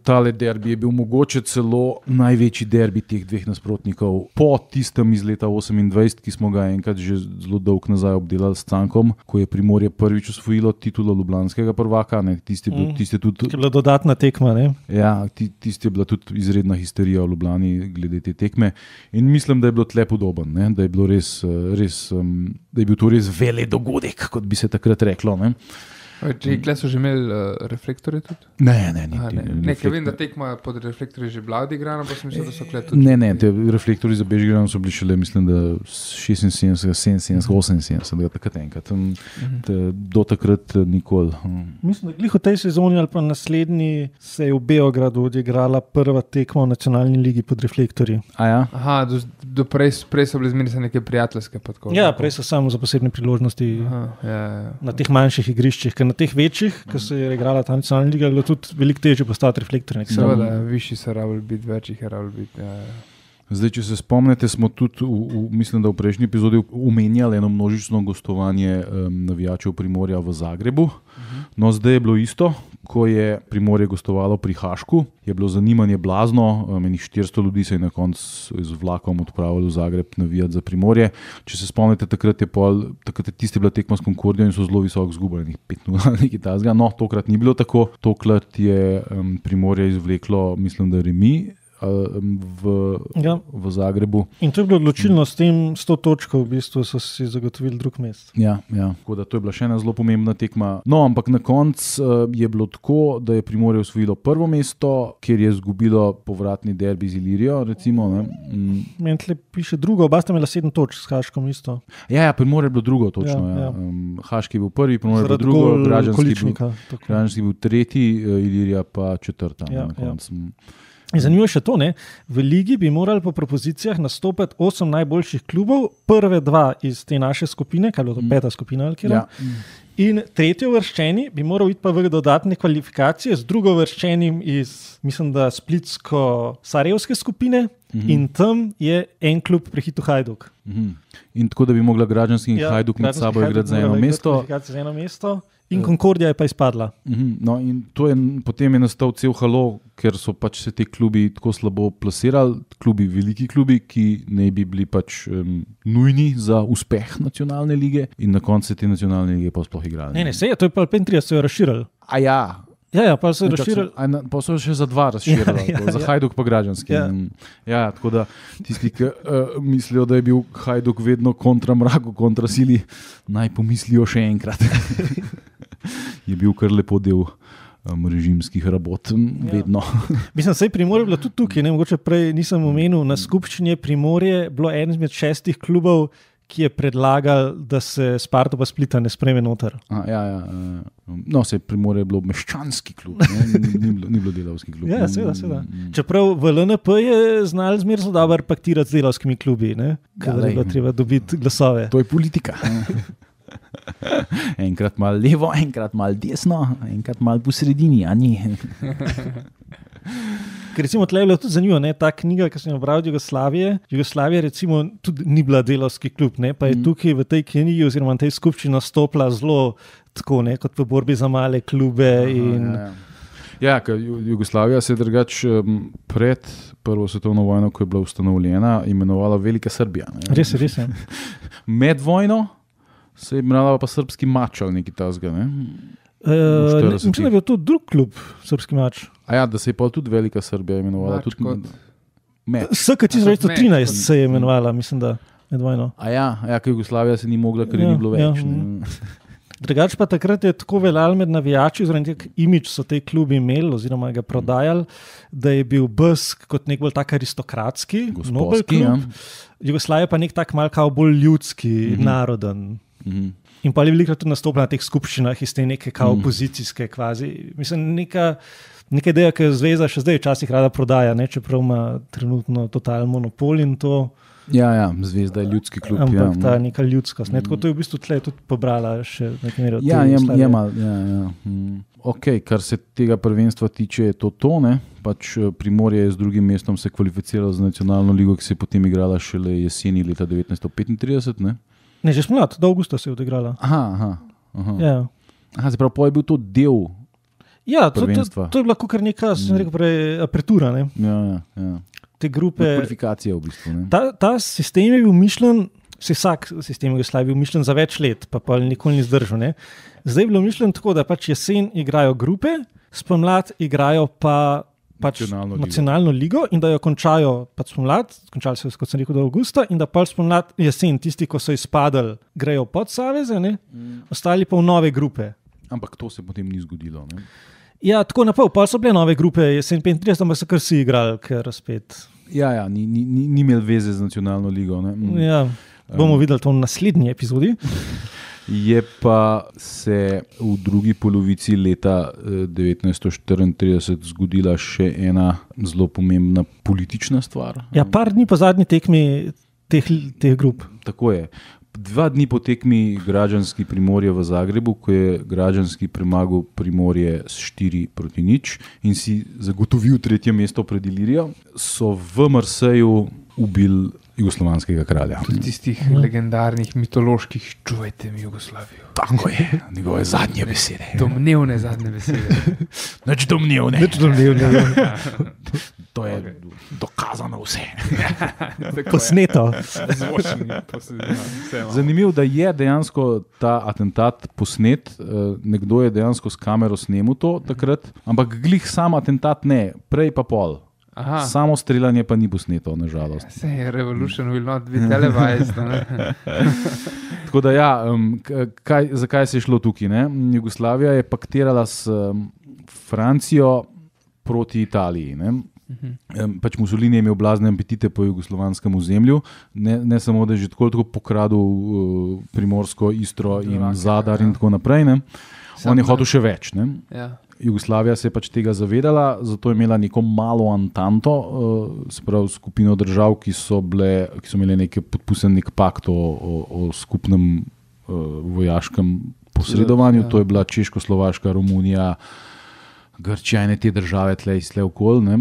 tale derbi je bil mogoče celo največji derbi teh dveh nasprotnikov po tistem iz leta osemindvajset, ki smo ga enkrat že zelo dolgo nazaj obdelali s Cankom, ko je Primorje prvič osvojilo titulo ljubljanskega prvaka. Prvaka, ne, tisti je, bil, Mm. tisti je tudi, Je bila dodatna tekma. Ne? ja, ti- tisti je bila tudi izredna histerija v Ljubljani glede te tekme in mislim, da je bilo tle podoben, ne, da je bilo res, eh, res um, da je bil to res velik dogodek, kot bi se takrat reklo, ne. Če kle so že imeli uh, reflektorje tudi? Ne, ne, Aha, niti, ne, ne, ker vem, da tekma pod reflektorji že bila odigrana, pa sem mislil, da so kle tudi. Ne, ne, te reflektorji za Bežigrad so bili šele, mislim, da šestinsedemdeset, sedeminsedemdeset, oseminsedemdeset, da takrat enkrat. Tam, te, do takrat eh, nikoli. hm. Mislim, da glih v tej sezoni ali pa naslednji se je v Beogradu odigrala prva tekma v nacionalni ligi pod reflektorji. A ja? Aha, do, do prej, prej so bile zmeraj neke prijateljske. Pa tako, Ja, tako. prej so samo za posebne priložnosti Aha, ja, ja. na teh manjših igriščih, ker na teh večjih, ki se je igrala ta nacionalna liga, je bilo tudi veliko težje postati reflektor. Seveda, višji so rabili biti, večjih je rabili biti. Ja, ja. Zdaj, če se spomnite, smo tudi, v, v, mislim, da v prejšnji epizodi omenjali eno množično gostovanje um, navijačev Primorja v Zagrebu. No, zdaj je bilo isto, ko je Primorje gostovalo pri Hašku, je bilo zanimanje blazno, um, enih štiristo ljudi se je na koncu z vlakom odpravilo v Zagreb navijati za Primorje. Če se spomnite, takrat je, pol, takrat je tiste bila tekma s Concordijo in so zelo visoko izgubili, pet nula ali nekaj takega. No, tokrat ni bilo tako, tokrat je um, Primorje izvleklo, mislim, da remi. V, Ja. v Zagrebu. In to je bilo odločilno, s tem sto točko v bistvu so si zagotovili drug mest. Ja, ja. Tako da to je bila še ena zelo pomembna tekma. No, ampak na koncu uh, je bilo tako, da je Primorje osvojilo prvo mesto, kjer je izgubilo povratni derbi z Ilirijo. Recimo, ne. Mm. Meni tle piše drugo, oba sta imela sedem točk s Haškom isto. Ja, ja, Primorje je bilo drugo, točno. Ja, Ja, ja. ja. Um, Haški je bil prvi, Primorje je bilo Zaradi drugo, gol Građanski je bil, Količnika. tako. Građanski je bil tretji, uh, Ilirija pa četrta. Ja, ne, na ja. koncu. In zanimivo je še to, ne? V ligi bi morali po propozicijah nastopati osem najboljših klubov, prve dva iz te naše skupine, kaj je bilo to peta skupina ali kjer. Ja. In tretji uvrščeni bi moral iti pa v dodatne kvalifikacije z drugo uvrščenim iz, mislim, da splitsko-sarajevske skupine. Mhm. In tam je en klub prehitel Hajduk. Mhm. In tako, da bi mogla Građanski in ja, Hajduk med Građanski sabo Hajduk igrati za eno morala igrati mesto. kvalifikacije za eno mesto. In Concordija je pa izpadla. Mhm, no, in to je, potem je nastal cel halo, ker so pač se ti klubi tako slabo plasirali, klubi, veliki klubi, ki ne bi bili pač um, nujni za uspeh nacionalne lige, in na koncu se te nacionalne lige pa sploh igrali. Ne, ne, se je, to je pa petintrideset, se je razširili. A ja. Ja, ja, pa se je razširili. A na- Pa so še za dva razširili, Ja, ja, za ja. Hajduk pa Građanski. Ja. In, ja, tako da tisti, ki uh, mislijo, da je bil Hajduk vedno kontra mraku, kontra sili, naj pomislijo še enkrat. Je bil kar lepo del um, režimskih rabot, ja. vedno. Mislim, da je Primorje bilo tudi tukaj, ne, mogoče prej nisem omenil, na skupščini je Primorje bilo eden izmed šestih klubov, ki je predlagal, da se Sparta pa Splita ne spreme noter. A, ja, ja, uh, no, se Primorje je bilo meščanski klub, ne, ni, ni, bilo, ni bilo delavski klub. Ja, seveda, seveda. Čeprav v L N P je znal zmeraj zelo dobro paktirati z delavskimi klubi, ne, kadar je bilo treba dobiti glasove. To je politika. Enkrat malo levo, enkrat malo desno, enkrat malo po sredini, a ni. Ker recimo tle je bilo tudi zanimivo, ne, ta knjiga, ki sem jo bral od Jugoslavije, Jugoslavija recimo tudi ni bila delavski klub, ne, pa je Mm. tukaj v tej knjigi oziroma v tej skupščini nastopila zelo tako, ne, kot v borbi za male klube. In Ja, ja. Ja, ker Ju- Jugoslavija se je drugač um, pred prvo svetovno vojno, ko je bila ustanovljena, imenovala Velika Srbija. Ne. res je, res je. Med vojno se je imenovala pa Srbski mač ali nekaj tasga. Ne? Uh, ne, štiridesetih. mislim, da je bil to drug klub, srpski mač. A ja, da se je pa tudi Velika Srbija imenovala. Mač Tudi kot- Med. S K tisoč devetsto trinajst se je imenovala, mislim, da med vojno. A ja, ja, ker Jugoslavija se ni mogla, ker ja, Ja, ni bilo ja, več. mm. ne. Drugač pa takrat je tako veljal med navijači, oziroma nek imič so te klubi imeli oziroma ga prodajali, da je bil B S K kot nek bolj tak aristokratski, nobel Gospodski, klub. ja. Jugoslavija pa nek tak malce bolj ljudski, Mhm. mm-hmm. naroden. Mhm. In pa je veliko tudi nastopila na teh skupščinah iz te neke kao Mm. opozicijske kvazi. Mislim, neka, neka ideja, ki jo zveza še zdaj včasih rada prodaja, ne? Čeprav ima trenutno totalen monopol in to, Ja, ja, Zvezda je ljudski klub. ampak ja, ta no. neka ljudskost. Ne? Tako to je v bistvu tle tudi pobrala še nekaj mere od Ja, te je, Jugoslavije. je mal, ja, ja. Mm. Okay, kar se tega prvenstva tiče, je to to. Ne? Pač eh, Primorje je z drugim mestom se kvalificiralo za nacionalno ligo, ki se je potem igrala šele jeseni leta devetnajststo petintrideset. Ne? Ne, že spomlad, do avgusta se je odigrala. Aha, aha. aha. Ja, aha se pravi, pa je bil to del. ja to, to, Prvenstva. to je bila kar neka, sem rekel prej, apertura, ne? Ja, ja, ja. Te grupe. Kvalifikacija v bistvu. Ne? Ta, ta sistem je bil mišljen vsi vsak sistem Jugoslavije bil mišljen za več let, pa pa nikoli ni zdržal. Ne? Zdaj je bilo mišljeno tako, da pač jesen igrajo grupe, spomlad igrajo pa pač nacionalno, ligo. nacionalno ligo in da jo končajo pač spomlad, končali so jo, kot sem rekel, do avgusta in da pač spomlad jesen, tisti, ko so izpadali, grejo pod saveze, ne? Mm. Ostali pa v nove grupe. Ampak to se potem ni zgodilo. Ne? Ja, tako na pol, pa so bile nove grupe, jesen petintrideset, ampak so kar si igrali, ker spet. Ja, ja, ni, ni, ni, ni imel veze z nacionalno ligo. Ne? Mm. Ja, bomo um. videli to v naslednji epizodi. Je pa se v drugi polovici leta devetnajststo štiriintrideset zgodila še ena zelo pomembna politična stvar. Ja, par dni po zadnji tekmi teh, teh grup. Tako je. Dva dni po tekmi Građanski Primorje v Zagrebu, ko je Građanski premagal Primorje s štiri proti nič in si zagotovil tretje mesto pred Ilirijo, so v Marseju ubili jugoslovanskega kralja. Tudi tistih hmm. legendarnih, mitoloških, čuvajte mi Jugoslavijo. Tako je, njegove zadnje besede. Domnevne zadnje besede. Nič domnevne. Nič domnevne. To je okay. Dokazano vse. Posneto. Zanimivo, da je dejansko ta atentat posnet. Nekdo je dejansko s kamero snemal to takrat, ampak glih sam atentat ne, prej pa pol. Aha. Samo streljanje pa ni posneto, nažalost. Vse je revolution will not be televised. Tako da ja, um, kaj, zakaj se je šlo tukaj? Ne? Jugoslavija je paktirala s um, Francijo proti Italiji. Ne? Uh-huh. Um, pač Mussolini je imel blazne apetite po jugoslovanskem ozemlju, ne, ne samo, da je že tako, tako pokradil uh, Primorsko, Istro in Drake, Zadar ja. In tako naprej. Ne? On je hotel še več. Ne? Ja. Jugoslavija se je pač tega zavedala, zato je imela neko malo antanto, uh, se pravi skupino držav, ki so, bile, ki so imeli nekaj podpisan nek pakt o, o, o skupnem uh, vojaškem posredovanju. Ja. To je bila Češko-Slovaška, Romunija, Grčija in te države tle iz tle okoli. Ne?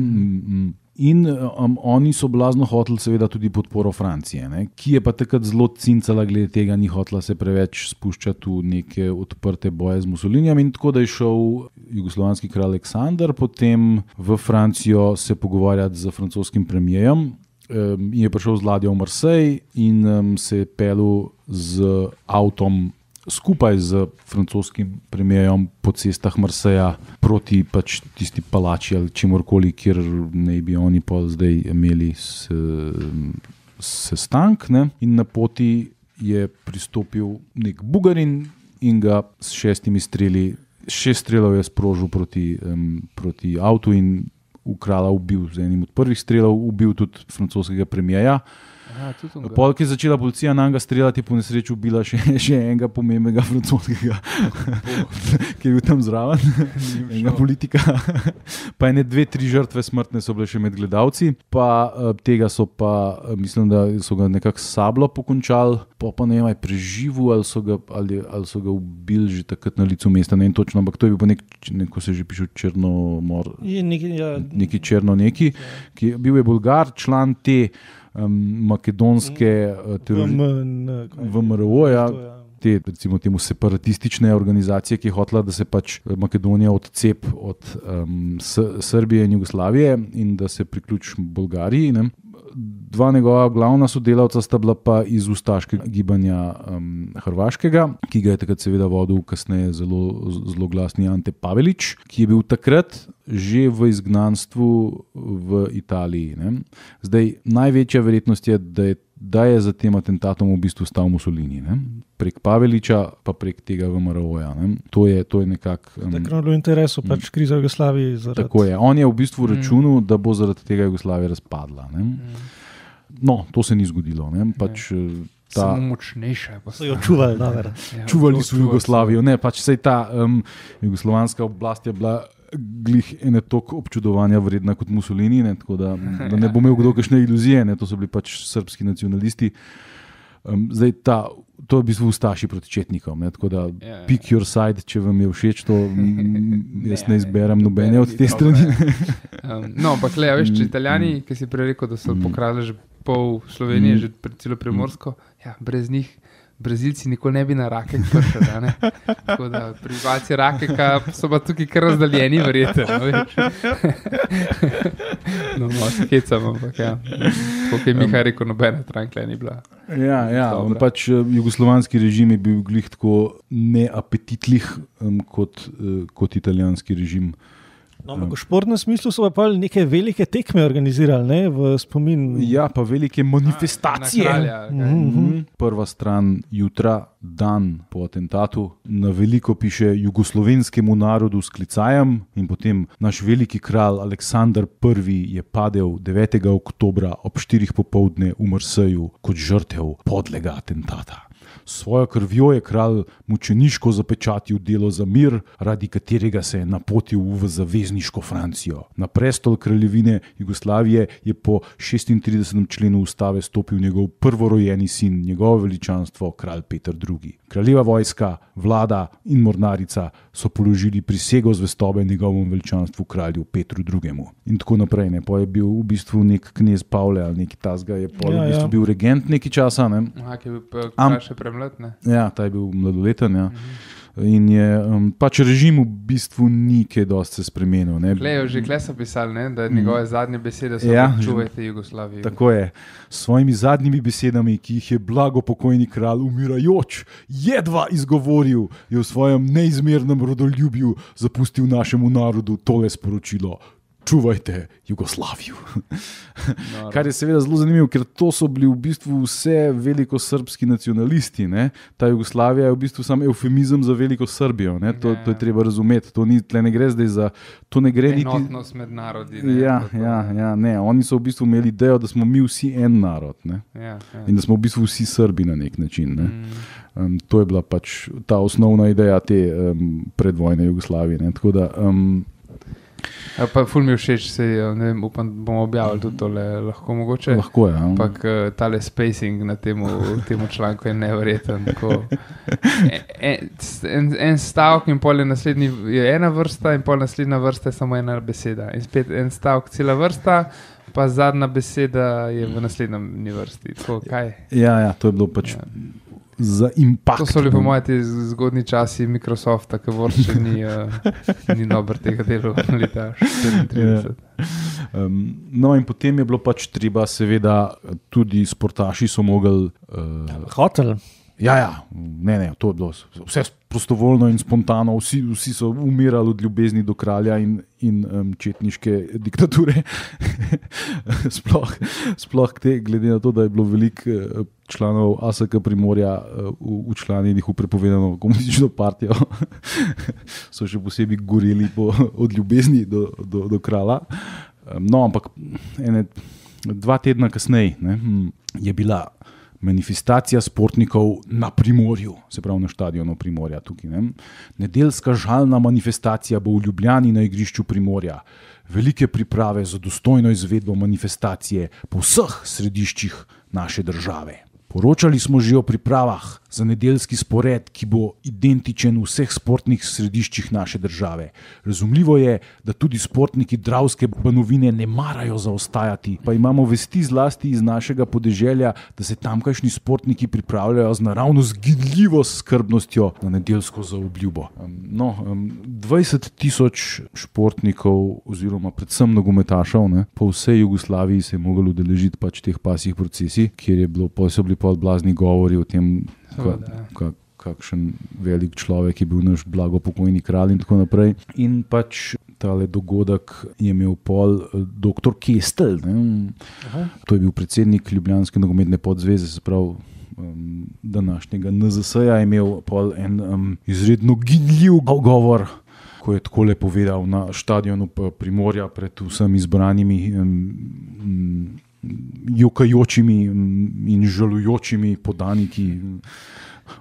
In um, oni so blazno hoteli seveda tudi podporo Francije, ne? Ki je pa takrat zelo cincala glede tega, ni hotela se preveč spuščati v neke odprte boje z Mussolinijem in tako da je šel jugoslovanski kralj Aleksandar potem v Francijo se pogovarjati z francoskim premijejem um, in je prišel z ladjo v Marseille in um, se je pelil z avtom skupaj z francoskim premijejem po cestah Marseja proti pač tisti palači ali čemorkoli, kjer ne bi oni pol zdaj imeli sestank. Ne? In na poti je pristopil nek Bugarin in ga s šestimi streli, šest strelov je sprožil proti, um, proti avtu in v kralja ubil z enim od prvih strelov, ubil tudi francoskega premijeja. Pol, ki je začela policija na njega streljati, po nesreči ubila še, še enega pomembnega francoskega, ki je bil tam zraven, enega politika. Pa ene dve, tri žrtve smrtne so bile še med gledalci, pa tega so pa, mislim, da so ga nekako sablo pokončali, pa pa ne vem, preživel ali so ga, ali, ali so ga ubili že takrat na licu mesta, ne vem točno, ampak to je bil pa nek, neko se že piše Črnomor, neki, ja, neki Črno neki, ki bil je Bolgar, član te Um, makedonske uh, V M R O-ja, te recimo temu separatistične organizacije, ki je hotela, da se pač Makedonija odcep od um, S- Srbije in Jugoslavije in da se priključi Bolgariji. Ne? Dva njegova glavna sodelavca sta bila pa iz ustaškega gibanja um, hrvaškega, ki ga je takrat seveda vodil kasneje zelo, zelo glasni Ante Pavelić, ki je bil takrat že v izgnanstvu v Italiji. Ne? Zdaj, največja verjetnost je, da je, da je za tem atentatom v bistvu stal Mussolini. Ne? Prek Pavelića, pa prek tega V M R O-ja. Ne? To je, to je nekako... Um, Takrat je bilo v interesu, pač kriza v Jugoslaviji. Zaradi... Tako je. On je v bistvu računal, mm. da bo zaradi tega Jugoslavija razpadla. Ne? Mm. No, to se ni zgodilo. Ne? Pač, ta... Samo močnejša. So jo čuvali. Ja, čuvali so Jugoslavijo. Ne, pač sej ta um, jugoslovanska oblast je bila glih ene toliko občudovanja vredna kot Mussolini, ne, tako da, da ne bo imel kdo kakšne iluzije, ne, to so bili pač srbski nacionalisti. Um, zdaj ta, to je v bistvu Ustaši proti četnikom, ne, tako da ja, pick your side, če vam je všeč to, jaz ne izberem nobene od te strani. um, no, ampak le, veš, če Italijani, ki si prej rekel, da so pokradli že pol Slovenije, mm. že celo Primorsko, ja, brez njih Brazilci nikoli ne bi na Rakek prišli. Tako da prebivalci Rakeka so pa tukaj kar razdaljeni, verjete. No, no, no se hecam, ampak ja. Kot je Miha rekel, nobena Trankle ni bila. Ja, ja pač jugoslovanski režim je bil glih tako neapetitlih um, kot, uh, kot italijanski režim. No, v športnem smislu so pa neke velike tekme organizirali, ne, v spomin. Ja, pa velike manifestacije. A, kralja, mm-hmm. Prva stran jutra, dan po atentatu, na veliko piše jugoslovenskemu narodu sklicajem in potem naš veliki kralj Aleksandar Prvi je padel devetega oktobra ob štirih popoldne v Marseju kot žrtev podlega atentata. Svojo krvjo je kralj mučeniško zapečatil delo za mir, radi katerega se je napotil v zavezniško Francijo. Na prestol kraljevine Jugoslavije je po šestintridesetem členu ustave stopil njegov prvorojeni sin, njegovo veličanstvo, kralj Peter drugi. Kraljeva vojska, vlada in mornarica so položili prisego zvestobe njegovemu veličanstvu kralju Petru drugemu. In tako naprej. Ne. Pa je bil v bistvu nek knez Pavle ali neki tasga, je pa ja, v bistvu ja. bil regent nekaj časa. Ne. Aha, ki je bil kralj še premlad, ne? Ja, ta je bil mladoleten, ja. Mhm. In je um, pač režim v bistvu ni kaj dosti se spremenil. Ne. Klejo, že kle so pisali, ne? Da njegove zadnje besede so ja, čuvajte Jugoslavijo. Tako je. S svojimi zadnjimi besedami, ki jih je blago pokojni kralj umirajoč jedva izgovoril, je v svojem neizmernem rodoljubju zapustil našemu narodu tole sporočilo: čuvajte Jugoslavijo. No, kar je seveda zelo zanimivo, ker to so bili v bistvu vse velikosrbski nacionalisti. Ne? Ta Jugoslavija je v bistvu sam eufemizem za veliko Srbijo. Ne? To, to je treba razumeti. To ni, tle ne gre zdaj za... To ne gre niti... Enotnost med narodi. Ne? Ja, ja, ja, ne. Oni so v bistvu imeli idejo, da smo mi vsi en narod. Ne? Ja, ja. In da smo v bistvu vsi Srbi na nek način. Ne? Mm. Um, to je bila pač ta osnovna ideja te um, predvojne Jugoslavije. Ne? Tako da... Um, Ja, pa ful mi všeč, se, ne vem, upam, bomo objavili tudi tole, lahko mogoče. Lahko je. Ampak tale spacing na temu, temu članku je neverjeten. En, en, en stavek in pol je naslednji, je ena vrsta in pol naslednja vrsta je samo ena beseda. In spet en stavek, cela vrsta, pa zadnja beseda je v naslednji vrsti. Tako, kaj? Ja, ja, to je bilo pač... Ja. Za impact. To so lepo moje te zgodni časi Microsofta, ki vrče ni, uh, ni dober tega delu leta štiriintrideset. Ja. Um, no in potem je bilo pač treba, seveda, tudi sportaši so mogli... Uh, Hotel. Ja, ja, ne, ne, to je bilo vse prostovoljno in spontano, vsi, vsi so umirali od ljubezni do kralja in, in um, četniške diktature. sploh, sploh te, glede na to, da je bilo veliko uh, članov A S K Primorja uh, učlanjenih v prepovedano komunistično partijo, so še posebej goreli po, od ljubezni do, do, do kralja. Um, no, ampak ene, dva tedna kasneje ne, je bila manifestacija sportnikov na Primorju, se pravi na štadionu Primorja tukaj. Ne? Nedeljska žalna manifestacija bo v Ljubljani na igrišču Primorja. Velike priprave za dostojno izvedbo manifestacije po vseh središčih naše države. Poročali smo že o pripravah za nedeljski spored, ki bo identičen v vseh sportnih središčih naše države. Razumljivo je, da tudi sportniki Dravske banovine ne marajo zaostajati, pa imamo vesti zlasti iz našega podeželja, da se tamkajšnji sportniki pripravljajo z naravno zginljivo skrbnostjo na nedeljsko zaobljubo. No, dvajset tisoč športnikov oziroma predvsem nogometašev ne, po vsej Jugoslaviji se je moglo udeležiti pač teh pasjih procesij, kjer je bilo, so bili pa blazni govori o tem, Ka, ka, kakšen velik človek je bil naš blago pokojni kralj in tako naprej. In pač tale dogodek je imel pol doktor Kestel. To je bil predsednik Ljubljanske nogometne podzveze, se pravi um, današnjega N Z S-ja, je imel pol en um, izredno ginljiv govor, ko je takole povedal na štadionu Primorja pred vsemi izbranimi um, um, jokajočimi in žalujočimi podaniki.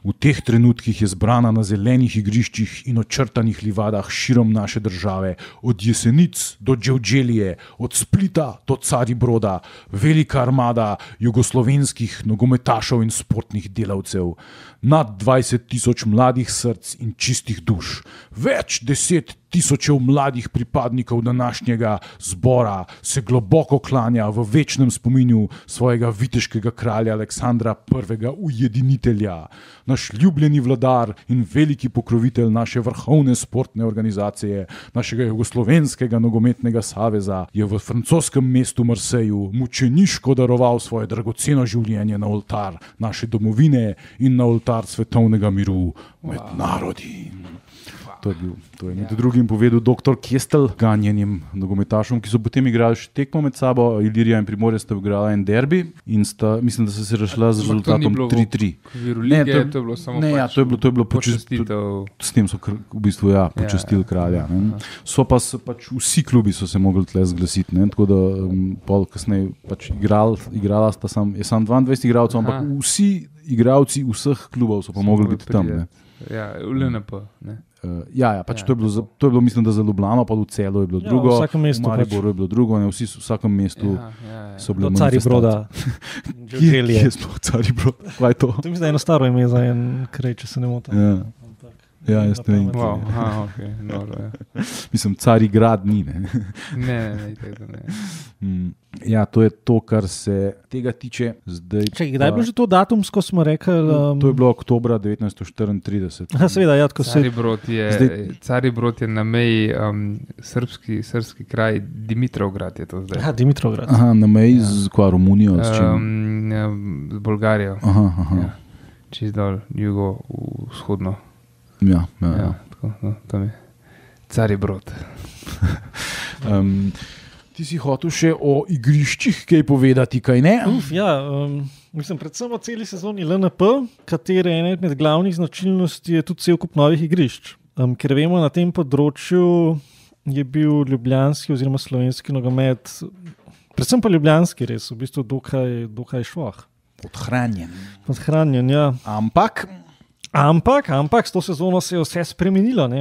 V teh trenutkih je zbrana na zelenih igriščih in očrtanih livadah širom naše države, od Jesenic do Dževdželije, od Splita do Caribroda, velika armada jugoslovenskih nogometašev in sportnih delavcev, nad dvajset tisoč mladih src in čistih duš, več deset tisočev mladih pripadnikov današnjega zbora se globoko klanja v večnem spominju svojega viteškega kralja Aleksandra prvega ujedinitelja. Naš ljubljeni vladar in veliki pokrovitelj naše vrhovne sportne organizacije, našega jugoslovenskega nogometnega saveza, je v francoskem mestu Marseju mučeniško daroval svoje dragoceno življenje na oltar naše domovine in na oltar svetovnega miru med wow. narodi. To je, bil, to je med ja. drugim povedal doktor Kestel, ganjenim nogometašom, ki so potem igrali še tekmo med sabo. Ilirija in Primorje sta igrala en derbi in sta, mislim, da so se rešila z rezultatom tri tri. Ne, to je, to je bilo samo ne, pač ja, to je bilo, to je bilo počastitev. S tem so v bistvu ja, počastili ja, kralja. Ne. So pa se pač vsi klubi so se mogli tle zglasiti, ne, tako da um, pol kasneje pač igral, igrala sta sam, je sam dvaindvajset igralcev, ampak vsi igralci vseh klubov so pa mogli biti tam. Ne. Ja, v L N P, ne. Uh, ja, ja, pač ja, to, je bilo, za, to je bilo, mislim, da za Ljubljano, pa v Celu je bilo ja, drugo, v Mariboru pač. je bilo drugo, ne, vsi v vsakem mestu ja, ja, ja. so bili manifestacije. Kje je sploh Caribroda? Kaj je to? To mislim, da je eno staro ime za en kraj, če se ne motim. Ja. Ja, jaz ne vem. Wow, aha, okay. no, ja. Mislim, Carigrad ni, ne? ne, ne, ne, ne. Mm, ja, to je to, kar se tega tiče. Zdaj Čekaj, kdaj je bilo že to datumsko, smo rekli? Um... To je bilo oktobra devetnajststo štiriintrideset. Aha, seveda, ja, tako se... Caribrod je, zdaj... Caribrod je na meji um, srpski, srpski kraj, Dimitrovgrad je to zdaj. Aha, Dimitrovgrad. Aha, na meji ja. z kva, Romunijo, s čim? Um, ja, z Bolgarijo. Aha, aha. Ja. Čist dol, jugo, vzhodno. Ja, ja, ja. ja tako, no, tam je Caribrod. um, ti si hotel še o igriščih kaj povedati, kaj ne? Uf, ja, um, mislim, predvsem o celi sezoni L N P, katere ena med glavnih značilnosti je tudi cel kup novih igrišč. Um, ker vemo, na tem področju je bil ljubljanski oziroma slovenski nogomet, predvsem pa ljubljanski res, v bistvu dokaj, dokaj šloh. Podhranjen. Podhranjen, ja. Ampak... Ampak, ampak, s to sezono se je vse spremenilo. Ne?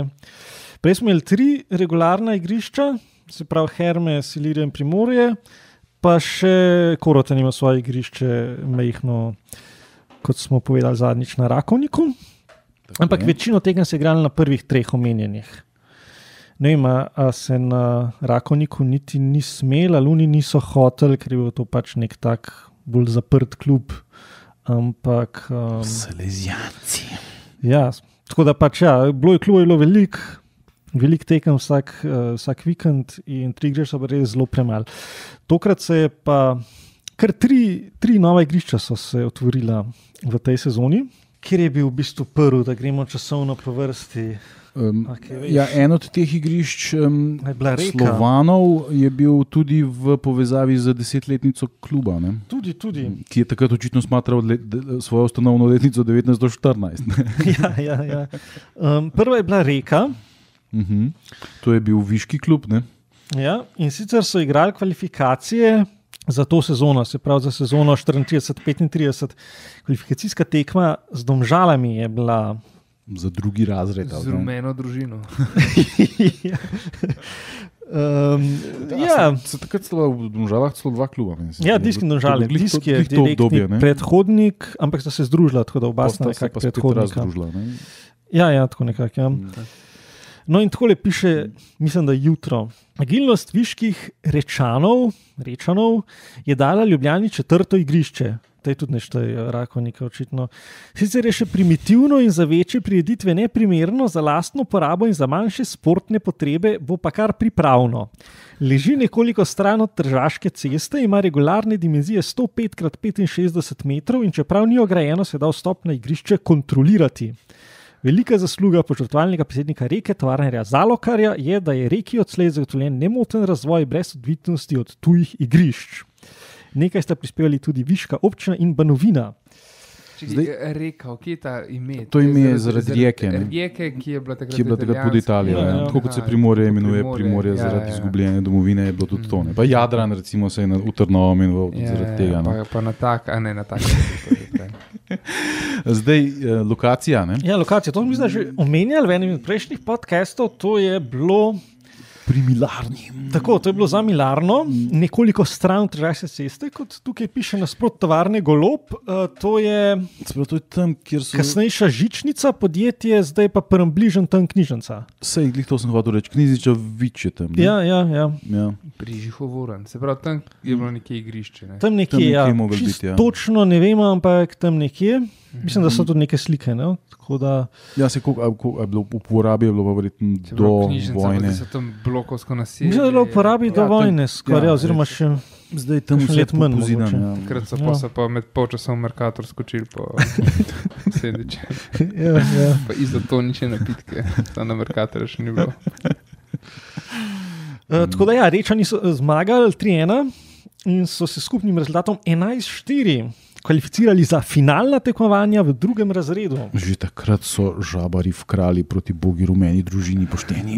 Prej smo imeli tri regularna igrišča, se pravi Hermes, Ilirija in Primorje, pa še Korotan ima svoje igrišče majhno, kot smo povedali zadnjič, na Rakovniku. Tako ampak je. Večino tega se je igrali na prvih treh omenjenih. Ne vem, a se na Rakovniku niti ni smel, ali oni niso hoteli, ker je bil to pač nek tak bolj zaprt klub. Ampak... Um, Salezijanci. Ja, tako da pač ja, bilo je klubov, je bilo veliko, veliko tekem vsak, uh, vsak vikend in tri igrišča so res zelo premalo. Tokrat se je pa, kar tri, tri nova igrišča so se otvorila v tej sezoni, kjer je bil v bistvu prvi, da gremo časovno po vrsti. Um, okay, ja, en od teh igrišč um, Slovanov je bil tudi v povezavi z desetletnico kluba, ne? Tudi, tudi. Ki je takrat očitno smatral let, de, svojo ustanovno letnico devetnajststo štirinajst. ja, ja, ja. Um, prva je bila Reka. Uh-huh. To je bil viški klub, ne? Ja, in sicer so igrali kvalifikacije za to sezono, se pravi za sezono štiriintrideset petintrideset. Kvalifikacijska tekma z Domžalami je bila... Za drugi razred. Z rumeno družino. ja. Um, da, ja. Se, se takrat celo v Domžalah celo dva kluba. Mislim, ja, Disk in Domžale. Disk je direktni predhodnik, ampak sta se združila, tako da oba sta nekako predhodnika. Ja, ja, tako nekako. Ja. Mm. No in takole piše, mislim, da jutro. Agilnost viških Rečanov, Rečanov je dala Ljubljani četrto igrišče. To je tudi nešto Rakovnika očitno. Sicer je še primitivno in za večje prireditve neprimerno, za lastno porabo in za manjše sportne potrebe bo pa kar pripravno. Leži nekoliko stran od Tržaške ceste, ima regularne dimenzije sto pet krat petinšestdeset metrov in čeprav ni ograjeno, se da vstop na igrišče kontrolirati. Velika zasluga požrtvalnega predsednika Reke, tovarnerja Zalokarja, je, da je Reki odslej zagotovljen nemoten razvoj brez odvisnosti od tujih igrišč. Nekaj sta prispevali tudi Viška občina in Banovina. Zdaj, Reka, kje je ta ime? To ime je zaradi Rijeke. Rijeke, ki je bila takrat, ki je bila takrat pod Italijo. Ja, ja. Tako kot se Primorje imenuje Primorje, Primorje ja, zaradi ja, ja. izgubljene domovine, je bilo tudi mm. to. Ne? Pa Jadran recimo se je v Trnovo imenoval ja, zaradi tega. Pa, pa na tak, a ne na tak. Zdaj, eh, lokacija. Ne? Ja, lokacija. To smo že omenjali v enem od prejšnjih podcastov. To je bilo pri Milarni. Tako, to je bilo za Milarno, nekoliko stran od Tržaške ceste, kot tukaj piše nasprot tovarne Golob. Uh, to je, to je tam, kjer so... kasnejša žičnica podjetje, zdaj pa prvem bližen tam knjižnica. Sej, glih to sem hotel reči, Knjiziča Vič je tam. Ne? Ja, ja, ja. ja. Pri Žihovoran, se pravi, tam je bilo nekje igrišče. Ne? Tam nekje, Tam nekje ja. moglo Čist biti, ja. Točno ne vem, ampak tam nekje. Mislim, da so tudi neke slike. Ne? Tako da... Ja, se koliko a, koliko, a je bilo v uporabi, je bilo pa verjetno do vojne. Se tam blokovsko naselje. Mislim, da je bilo v uporabi do Ja, vojne, tam- skoraj, ja, oziroma zdaj- še... Zdaj tam kakšen vse let manj pozidano. mogoče. Ja. Takrat so Ja. pa, so pa med polčasom v Mercator skočili po sendiče. ja, ja. Pa izotonične napitke, tam na Mercatorju še ni bilo. Uh, tako da ja, Rečani so eh, zmagali tri ena in so se skupnim rezultatom enajst štiri kvalificirali za finalna tekmovanja v drugem razredu. Že takrat so žabari vkrali proti bogi rumeni družini pošteni.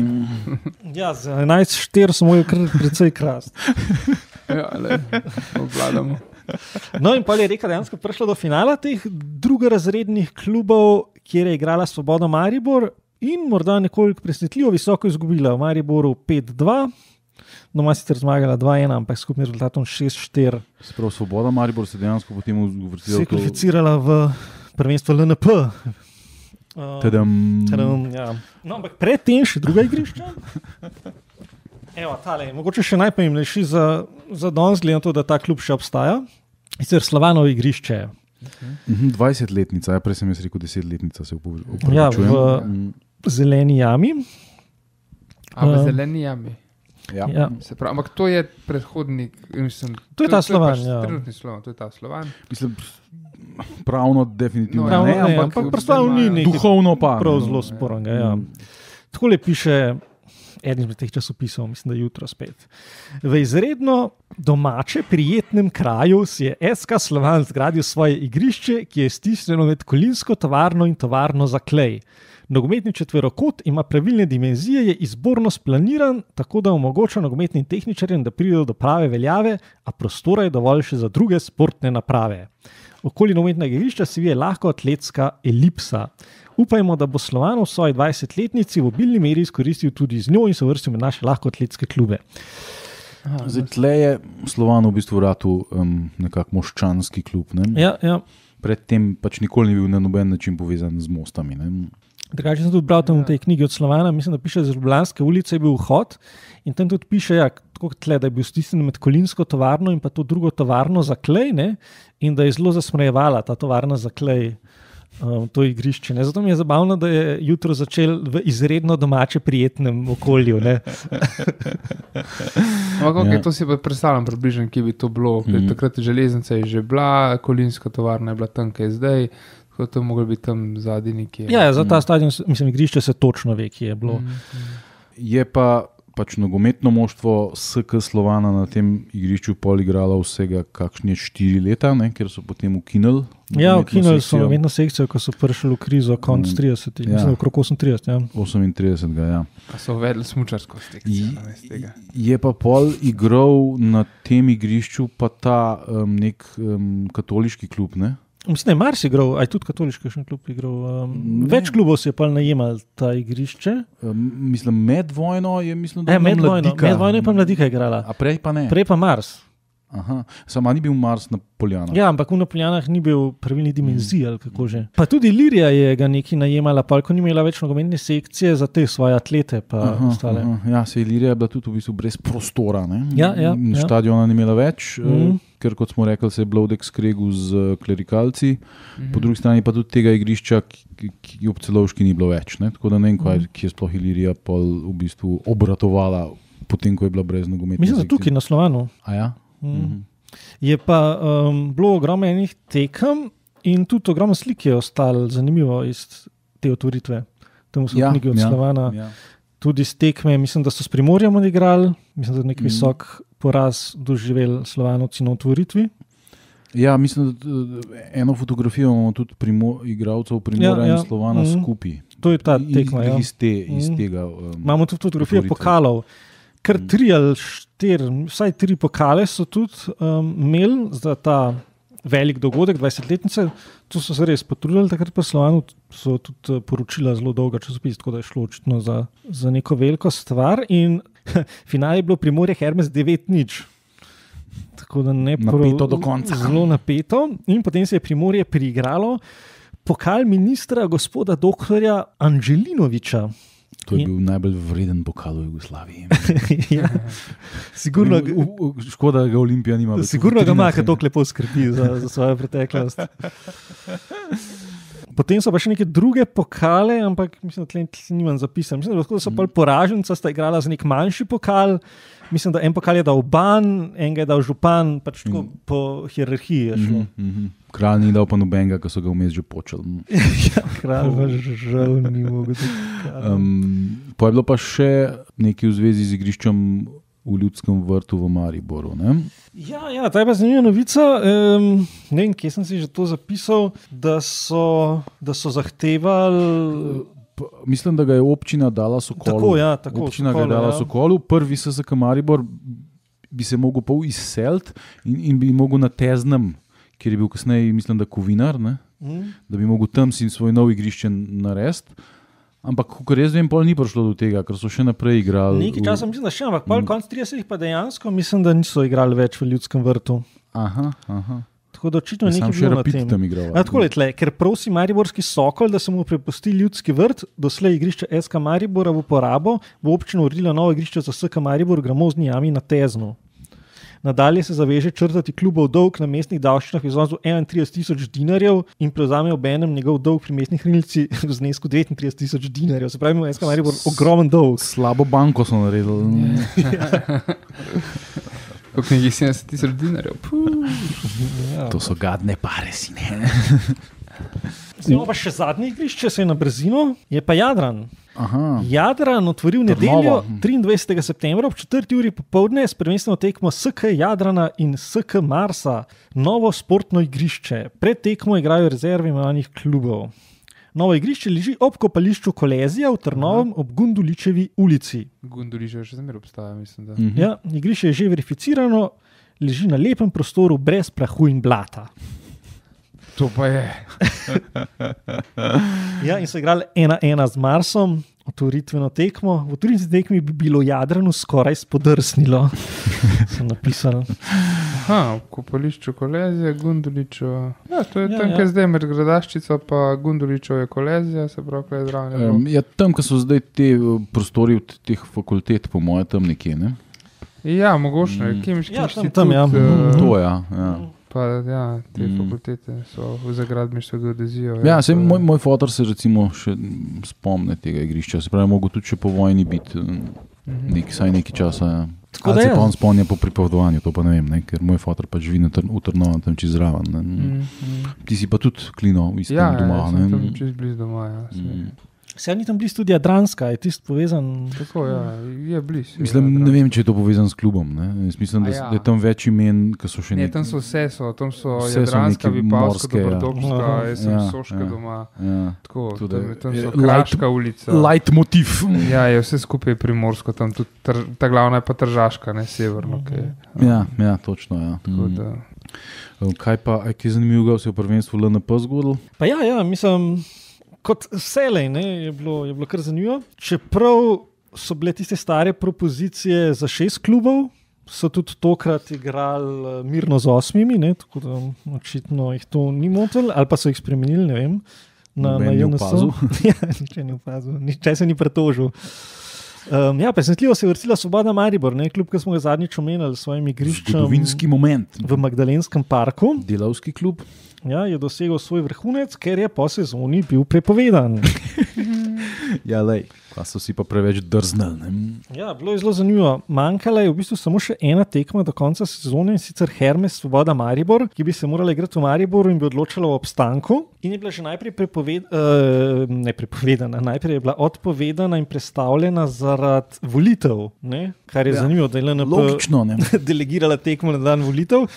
Ja, za enajst štiri so mogli kar precej krast. Ja, le, obvladamo. No in pa je Reka dejansko prišla do finala teh drugorazrednih klubov, kjer je igrala Svoboda Maribor in morda nekoliko presenetljivo visoko izgubila v Mariboru pet dva. Doma sicer zmagala dva ena, ampak s skupnim rezultatom šest štiri. Sprav Svoboda Maribor se dejansko potem uvrstila Se je kvalificirala v prvenstvo L N P. Uh, Tadam. tadam, ja. No, ampak predtem še druga igrišča. Evo, tale, mogoče še najpomembnejši za, za danes, glede na to, da ta klub še obstaja. Sicer Slovanovo igrišče. Mhm, dvajsetletnica, ja, prej sem jaz rekel desetletnica, se upravičujem. Ja, v Mm, zeleni jami. A v Um, zeleni jami. ja. Ja. Se pravi, ampak to je predhodnik. Mislim, To je ta Slovan, pač ja. Trenutni Slovan, to je ta Slovan. Mislim, pravno definitivno No, ne, Pravno ne, ampak, ampak v- predstavljamo ni imajo- nekaj duhovno pa. prav ne. zelo spornega. Ja. Mm. Takole piše eden izmed teh časopisov, mislim, da jutro spet. V izredno domače, prijetnem kraju si je S K Slovan zgradil svoje igrišče, ki je stisnjeno med kolinsko tovarno in tovarno za klej. Nogometni četverokot ima pravilne dimenzije, je izborno splaniran, tako da omogoča nogometnim tehničarjem, da pridejo do prave veljave, a prostora je dovolj še za druge sportne naprave. Okoli nogometnega igrišča se vije lahko atletska elipsa. Upajmo, da bo Slovan v svoji dvajsetletnici v obilni meri izkoristil tudi z njo in se vrstil med naše lahko atletske klube. Aha, Zdaj, tle je Slovan v bistvu vratu um, nekak moščanski klub. Ne? Ja, ja. Predtem pač nikoli ni bil na noben način povezan z mostami. Ne? Drugače sem tudi bral tam v tej knjigi od Slovana, mislim, da piše, da z Ljubljanske ulice je bil vhod in tam tudi piše, ja, tako kot tle, da je bil stisnjen med kolinsko tovarno in pa to drugo tovarno za klej, ne, in da je zelo zasmejevala ta tovarna za klej um, to igrišče. Ne. Zato mi je zabavno, da je jutro začel v izredno domače prijetnem okolju. Ne. Ampak, okay, Ja. to si pa predstavljam približno, kje bi to bilo. Mhm. Mm. Takrat je železnica je že bila, kolinska tovarna je bila tam, kaj je zdaj. Tako da to moglo biti tam zadnji nekje. Ja, ja, za ta stadion, mislim, igrišče se točno ve, kje je bilo. Mm. Je pa pač nogometno moštvo S K Slovana na tem igrišču pol igralo vsega kakšne štiri leta, ne, ker so potem ukinili. Ja, nogometno ukinili so sekcijo. nogometno sekcijo, ko so prišli v krizo konc Mm. tridesetih, Ja. mislim, okrog osemintrideset. Ja. osemintridesetega, ja. A so uvedli smučarsko sekcijo namesto tega. Je pa pol igral na tem igrišču pa ta um, nek um, katoliški klub, ne? Mislim, da je Mars igral, aj tudi katoliški še klub igral. Um, Ne. več klubov si je pa najemal ta igrišče. Um, mislim, med vojno je, mislim, da E, je bila med vojno, Mladika. med vojno je pa Mladika igrala. A prej pa ne. Prej pa Mars. Aha, sama ni bil Mars na Poljanah. Ja, ampak v Napolijanah ni bil pravilnih dimenzij ali kako že. Pa tudi Ilirija je ga nekaj najemala, pa ko ni imela več nogometne sekcije za te svoje atlete pa Aha, ostale. aha. Ja, se Ilirija je bila tudi v bistvu brez prostora. Ne? Ja, ja, In ja. Štadiona ni imela več, Mhm. mm. ker kot smo rekli, se je Blodek skregal z eh, klerikalci, Mhm. po drugi strani pa tudi tega igrišča, ki, ki ob Celovški ni bilo več. Ne? Tako da ne vem, kaj, Mhm. ki je sploh Ilirija pol v bistvu obratovala, potem ko je bila brez nogometne Mislim, da sekcije. tukaj na Slovanu. A ja? Mm. Mhm. Je pa um, bilo ogromno enih tekem in tudi ogromno slik je ostalo zanimivo iz te otvoritve. Tam so Ja, knjige od ja, Slovana. ja. Tudi z tekme, mislim, da so s Primorjem odigrali, mislim, da je nek Mhm. visok poraz doživeli Slovanovci na otvoritvi. Ja, mislim, da eh, eno fotografijo imamo tudi primo, igralcev Primora Ja, ja. in Slovana Mhm. skupaj. To je ta tekma. Iz, Ja. iz, te, iz Mhm. tega. Um, Imamo tudi fotografijo otvoritve. pokalov. Kar Mhm. tri ali štiri, vsaj tri pokale so tudi um, imeli za ta velik dogodek, dvajsetletnice. To so se res potrudili, takrat pa Slovanu so tudi eh, poročila zelo dolga časopis, tako da je šlo očitno za, za neko veliko stvar. In Finale je bilo Primorje Hermes devet nič. Tako da ne napeto do konca. Zelo napeto. In potem se je Primorje priigralo pokal ministra gospoda doktorja Anđelinoviča. To je bil in... najbolj vreden pokal v Jugoslaviji. ja. Sigurno, u, u, škoda, da ga Olimpija nima. Sigurno ga ima, ker to lepo skrbi za, za svojo preteklost. Potem so pa še neke druge pokale, ampak mislim, da tle nimam zapisan. Mislim, da so pa poraženca sta igrala za nek manjši pokal. Mislim, da en pokal je dal ban, enega je dal župan, pač tako mm. po hierarhiji je šlo. Mm -hmm. Kralj ni dal pa nobenega, ker so ga vmes že počeli. ja, kralj pa žal ni mogel. Um, pa je bilo pa še nekaj v zvezi z igriščem v Ljudskem vrtu v Mariboru, ne? Ja, ja, ta je pa zanimiva novica. Um, ne vem, kje sem si že to zapisal, da so, da so zahtevali... Mislim, da ga je občina dala Sokolu. Tako, ja, tako. Občina Sokolu, ga je dala ja. Sokolu. Prvi S S K Maribor bi se mogel pa izseliti in, in bi mogel na Teznem, kjer je bil kasneje, mislim, da Kovinar, ne? Mm. Da bi mogel tam si svoj nov igrišče narediti. Ampak, kot jaz vem, pol ni prišlo do tega, ker so še naprej igrali. Nekaj časa mislim, da še, ampak pol konc tridesetih pa dejansko mislim, da niso igrali več v Ljudskem vrtu. Aha, aha. Tako da očitno ja, nekaj bilo na tem. Tam igral. A, tako je tle, ker prosi mariborski Sokol, da se mu prepusti Ljudski vrt, doslej igrišče S K Maribora v uporabo, bo občina uredila novo igrišče za S K Maribor v Gramozni jami na Teznu. Nadalje se zaveže črtati klubov dolg na mestnih davščinah v iznosu enaintrideset tisoč dinarjev in prevzame obenem njegov dolg pri mestnih hranilci v znesku devetintrideset tisoč dinarjev. Se pravi, ima S K Maribor ogromen dolg. Slabo banko so naredili. Kot nekih sedemdeset tisoč dinarjev. Ja. To so gadne pare, si ne. Zdaj pa še zadnji igrišče, se je na brzino, je pa Jadran. Aha. Jadran otvoril nedeljo triindvajsetega septembra ob četrti uri popoldne s prvenstveno tekmo S K Jadrana in S K Marsa. Novo sportno igrišče. Pred tekmo igrajo rezerve imenovanih klubov. Novo igrišče leži ob kopališču Kolezija v Trnovem ob Gunduličevi ulici. Gunduličeva še zmeraj obstaja, mislim. Da. Mhm. Ja, igrišče je že verificirano, leži na lepem prostoru brez prahu in blata. To pa je. ja, in so igrali ena ena z Marsom, otvoritveno tekmo. V otvoritveni tekmi bi bilo Jadranu skoraj spodrsnilo. Sem napisal. Aha, v kopališču Kolezija, Gunduličeva. Ja, to je Ja, tam, ja. kjer zdaj med Gradaščico pa Gunduličevo je Kolezija, se pravi, kaj je zraven. Um, ja, tam, ko so zdaj te uh, prostori od teh fakultet, po moje, tam nekje, ne? Ja, mogoče. Mm. Kemiški Ja, tam- inštitut. tam, ja. eh, To, ja. ja. Pa ja, te Mm. fakultete so za gradbeništvo, geodezijo. Ja, sej to je- moj, moj fotor se recimo še mm, spomne tega igrišča. Se pravi, mogo tudi še po vojni biti Mhm. nek, saj nekaj časa. Ja. Tako Ali da se je. pa on spomnja po pripovedovanju, to pa ne vem, ne? Ker moj fotor pa živi na Tr v Trnovem, tam čez zraven. Ne? Mhm, mhm. Ti si pa tudi klino v istem Ja, doma. ja, ne? sem tam čez blizu doma. Ja, saj. Mm. Se ni tam blizu tudi Jadranska, je tisti povezan. Tako, ja, je blizu. Mislim, ne vem, če je to povezan s klubom. Ne? Jaz mislim, da, A s- ja. da je tam več imen, ki so še Ne, nek- tam so vse, so, tam so Vse so Jadranska, neke Vipavska, morske, ja. Dobrodopska, Aha. jaz sem Ja, Soška ja. doma. Ja. Tako, Tudi, tam, tam eh, so light- Kraška ulica. Light motiv. Ja, je vse skupaj primorsko, tam tudi tr, ta glavna je pa Tržaška, ne severno. Mhm. Okay. Ja, ja, točno. Ja. Tako Mm. da, Kaj pa, a kaj je zanimivo, se je v prvenstvu L N P zgodilo? Pa ja, ja, mislim, kot vselej ne, je, bilo, je bilo kar zanimivo. Čeprav so bile tiste stare propozicije za šest klubov, so tudi tokrat igrali eh, mirno z osmimi, ne, tako da očitno jih to ni motilo, ali pa so jih spremenili, ne vem. Na, Noben na ni J N S. opazil. ja, niče ni opazil, niče se ni pretožil. Um, ja, presenetljivo se je vrstila Svoboda Maribor, ne, klub, ki smo ga zadnjič omenili s svojim igriščem Zgodovinski moment. v Magdalenskem parku. Delavski klub. Ja, je dosegel svoj vrhunec, ker je po sezoni bil prepovedan. Ja, lej, pa so si pa preveč drznili. Ne? Ja, bilo je zelo zanimivo. Manjkala je v bistvu samo še ena tekma do konca sezone, in sicer Hermes Svoboda Maribor, ki bi se morala igrati v Mariboru in bi odločala o obstanku. In je bila že najprej prepoved, uh, ne prepovedana, najprej je bila odpovedana in prestavljena zaradi volitev, ne? Kar je Ja. ja. zanimivo, da je L N P Logično, ne? delegirala tekmo na dan volitev.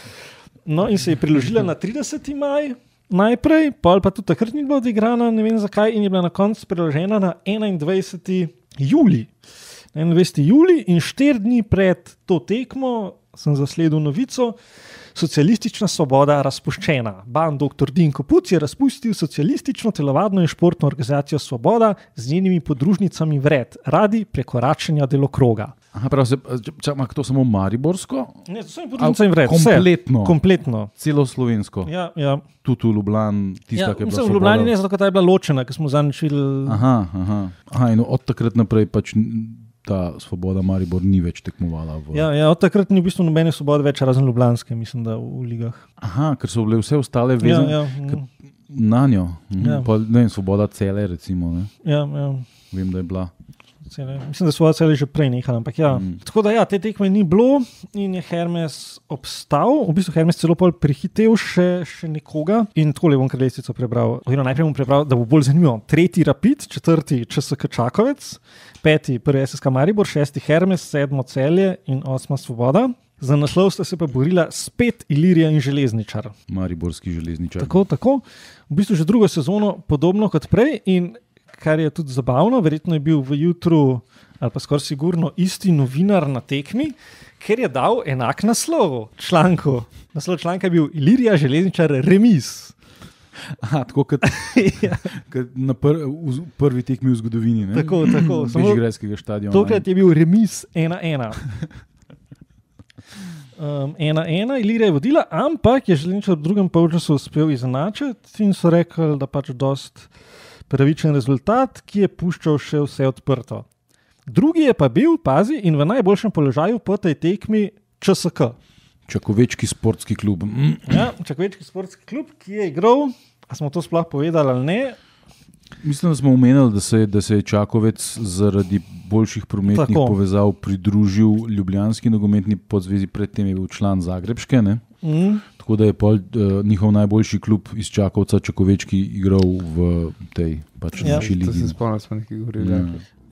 No, in se je preložila na trideseti maj najprej, pol pa tudi takrat ni bila odigrana, ne vem zakaj, in je bila na koncu preložena na enaindvajseti julij. enaindvajseti julij in štiri dni pred to tekmo sem zasledil novico: Socialistična Svoboda razpuščena. Ban doktor Dinko Puc je razpustil socialistično telovadno in športno organizacijo Svoboda z njenimi podružnicami vred, radi prekoračenja delokroga. Aha, prav se, čakaj, to samo mariborsko? Ne, to sem podružnica in vred. Kompletno. Kompletno. Celo slovensko. Ja, ja. Tudi v Ljubljani, tista, Ja, ki je bila mislim, v Svoboda. Ljubljani ne, zato ker ta je bila ločena, ker smo zadnjič videli. Aha, aha. aha, in od takrat naprej pač ta Svoboda Maribor ni več tekmovala. V... Ja, ja, od takrat ni v bistvu nobene svobode več, razen ljubljanske, mislim, da v, v ligah. Aha, ker so bile vse ostale Ja, vezane ja, ker- mm, na njo. Mhm. Ja. Pa, ne vem, Svoboda cele, recimo. Ne? ja, ja. Vem, da je bila. Cele. Mislim, da so cele že prej nehali, ampak ja. Mm. Tako da ja, te tekme ni bilo in je Hermes obstal. V bistvu Hermes celo pol prehitev še, še nekoga in takole bom kar lestvico prebral. Oziroma najprej bom prebral, da bo bolj zanimivo. Tretji Rapid, četrti ČSK Čakovec, peti prvi S S K Maribor, šesti Hermes, sedmo Celje in osma Svoboda. Za naslov sta se pa borila spet Ilirija in Železničar. Mariborski železničar. Tako, tako. V bistvu že drugo sezono podobno kot prej in kar je tudi zabavno, verjetno je bil v jutru ali pa skoraj sigurno isti novinar na tekmi, ker je dal enak naslov članku. Naslov članka je bil Ilirija Železničar remis. Aha, tako kot, Ja, kot na pr, v prvi tekmi v zgodovini. Ne? tako, tako. Samo Bežigrajskega stadiona. tokrat je bil remis ena ena. Um, ena ena, Ilirija je vodila, ampak je Železničar v drugem polčasu uspel izenačiti in so rekli, da pač dost pravičen rezultat, ki je puščal še vse odprto. Drugi je pa bil, pazi, in v najboljšem položaju po tej tekmi ČSK. Čakovečki sportski klub. Mm. Ja, Čakovečki sportski klub, ki je igral, a smo to sploh povedali ali ne? Mislim, da smo omenili, da se, je- da se je Čakovec zaradi boljših prometnih Tako. povezav pridružil Ljubljanski nogometni podzvezi, predtem je bil član Zagrebške. Ne? Mm. Tako da je pol, uh, njihov najboljši klub iz Čakovca, Čakovečki, igral v tej pač Ja, naši To ligi. se spomnim, smo nekaj govorili. Ja.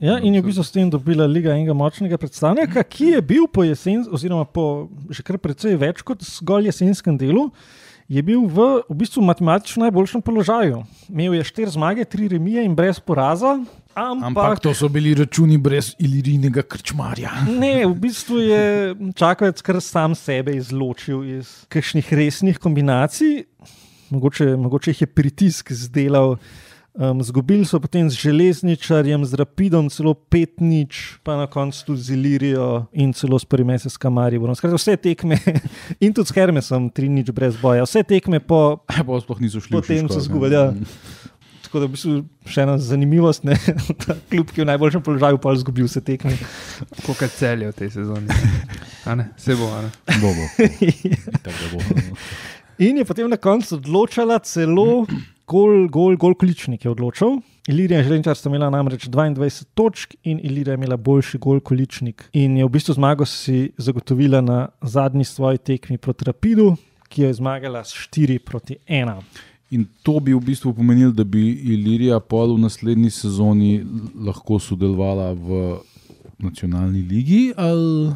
Ja, in je v bistvu s tem dobila liga enega močnega predstavnika, ki je bil po jesen, oziroma po že kar precej več kot zgolj jesenskem delu, je bil v, v bistvu matematično najboljšem položaju. Imel je štiri zmage, tri remije in brez poraza, ampak, Ampak to so bili računi brez ilirijnega krčmarja. ne, v bistvu je Čakovec kar sam sebe izločil iz kakšnih resnih kombinacij, mogoče, mogoče jih je pritisk zdelal. Um, zgubili so potem z Železničarjem, z Rapidom celo pet nič, pa na koncu tudi z Ilirijo in celo s prvim S S K Mariborom. Skratka, vse tekme in tudi s Hermesom tri nič brez boja. Vse tekme po, Ja, pa sploh niso šli. v potem Šiško, so ne. zgubili. Ja. Tako da v bistvu še ena zanimivost, ne? Ta klub, ki je v najboljšem položaju, pa je izgubil vse tekme. Koliko celje v tej sezoni. A ne? Se bo, a ne? Bo, bo. Itak, da bo. In je potem na koncu odločala celo gol, gol, gol količnik je odločal. Ilirija in Železničar sta imela namreč dvaindvajset točk in Ilirija je imela boljši gol količnik. In je v bistvu zmago si zagotovila na zadnji svoji tekmi proti Rapidu, ki jo je zmagala s štiri proti ena. In to bi v bistvu pomenilo, da bi Ilirija pol v naslednji sezoni lahko sodelovala v nacionalni ligi. Ali...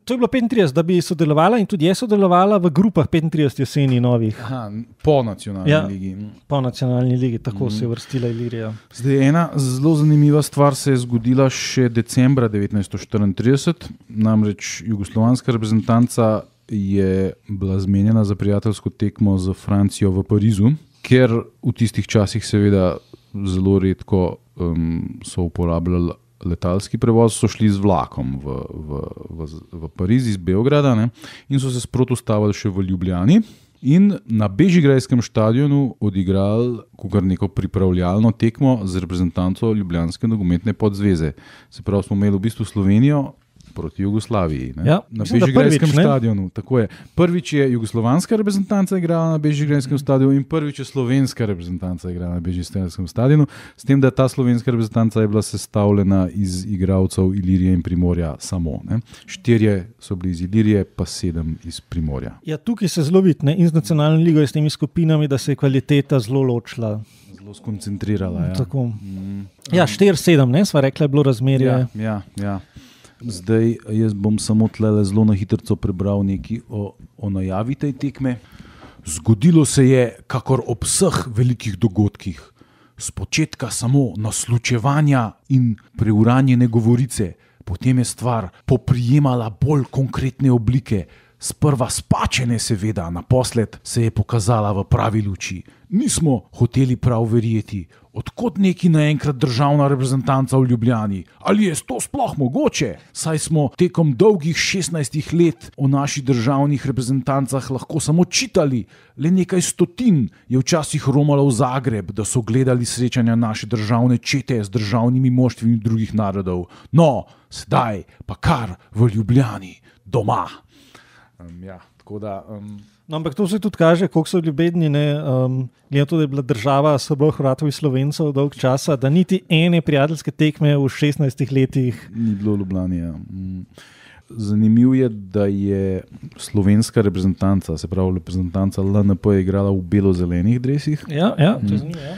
To je bilo petintrideset, da bi sodelovala in tudi je sodelovala v grupah petintrideset jeseni novih. Aha, po nacionalni Ja. ligi. Po nacionalni ligi, tako mm. se je vrstila Ilirija. Zdaj, ena zelo zanimiva stvar se je zgodila še decembra devetnajststo štiriintrideset, namreč jugoslovanska reprezentanca je bila zmenjena za prijateljsko tekmo z Francijo v Parizu, ker v tistih časih seveda zelo redko um, so uporabljali letalski prevoz, so šli z vlakom v, v, v, v Pariz iz Beograda, ne, in so se sproti ustavili še v Ljubljani. In na bežigrajskem stadionu odigrali kar neko pripravljalno tekmo z reprezentanco Ljubljanske nogometne podzveze. Se pravi, smo imeli v bistvu Slovenijo proti Jugoslaviji. Ne? Ja, Na mislim, da bežigrajskem prvič, ne? stadionu. Tako je. Prvič je jugoslovanska reprezentanca igrala na bežigrajskem stadionu in prvič je slovenska reprezentanca igrala na bežigrajskem stadionu. S tem, da ta slovenska reprezentanca je bila sestavljena iz igralcev Ilirije in Primorja samo. Ne? Štirje so bili iz Ilirije, pa sedem iz Primorja. Ja, tukaj se zelo vidi, ne, in z nacionalno ligo in s temi skupinami, da se je kvaliteta zelo ločila. Zelo skoncentrirala. Ja. Tako. Mm. Ja, štiri sedem, ne, sva rekla, je bilo razmerje. Ja, ja, ja. Zdaj jaz bom samo tlele zelo na hitro prebral nekaj o, o najavi tej tekme. Zgodilo se je, kakor ob vseh velikih dogodkih, spočetka samo naslučevanja in preuranjene govorice, potem je stvar poprijemala bolj konkretne oblike. Sprva spačene, seveda, naposled se je pokazala v pravi luči. nismo hoteli prav verjeti, odkot neki naenkrat državna reprezentanca v Ljubljani. Ali je to sploh mogoče? Saj smo tekom dolgih šestnajstih let o naših državnih reprezentancah lahko samo čitali. Le nekaj stotin je včasih romalo v Zagreb, da so gledali srečanja naše državne čete z državnimi moštvimi drugih narodov. No, sedaj pa kar v Ljubljani, doma. Um, ja, tako da... Um... No, ampak to se tudi kaže, koliko so ljubedni, um, glede to, da je bila država Srbov, Hrvatov in Slovencev dolg časa, da niti ene prijateljske tekme v šestnajstih letih ni bilo v Ljubljani. Ja. Zanimivo je, da je slovenska reprezentanca, se pravi reprezentanca L N P, igrala v belo-zelenih dresih. Ja, ja, to je zanimivo. Ja.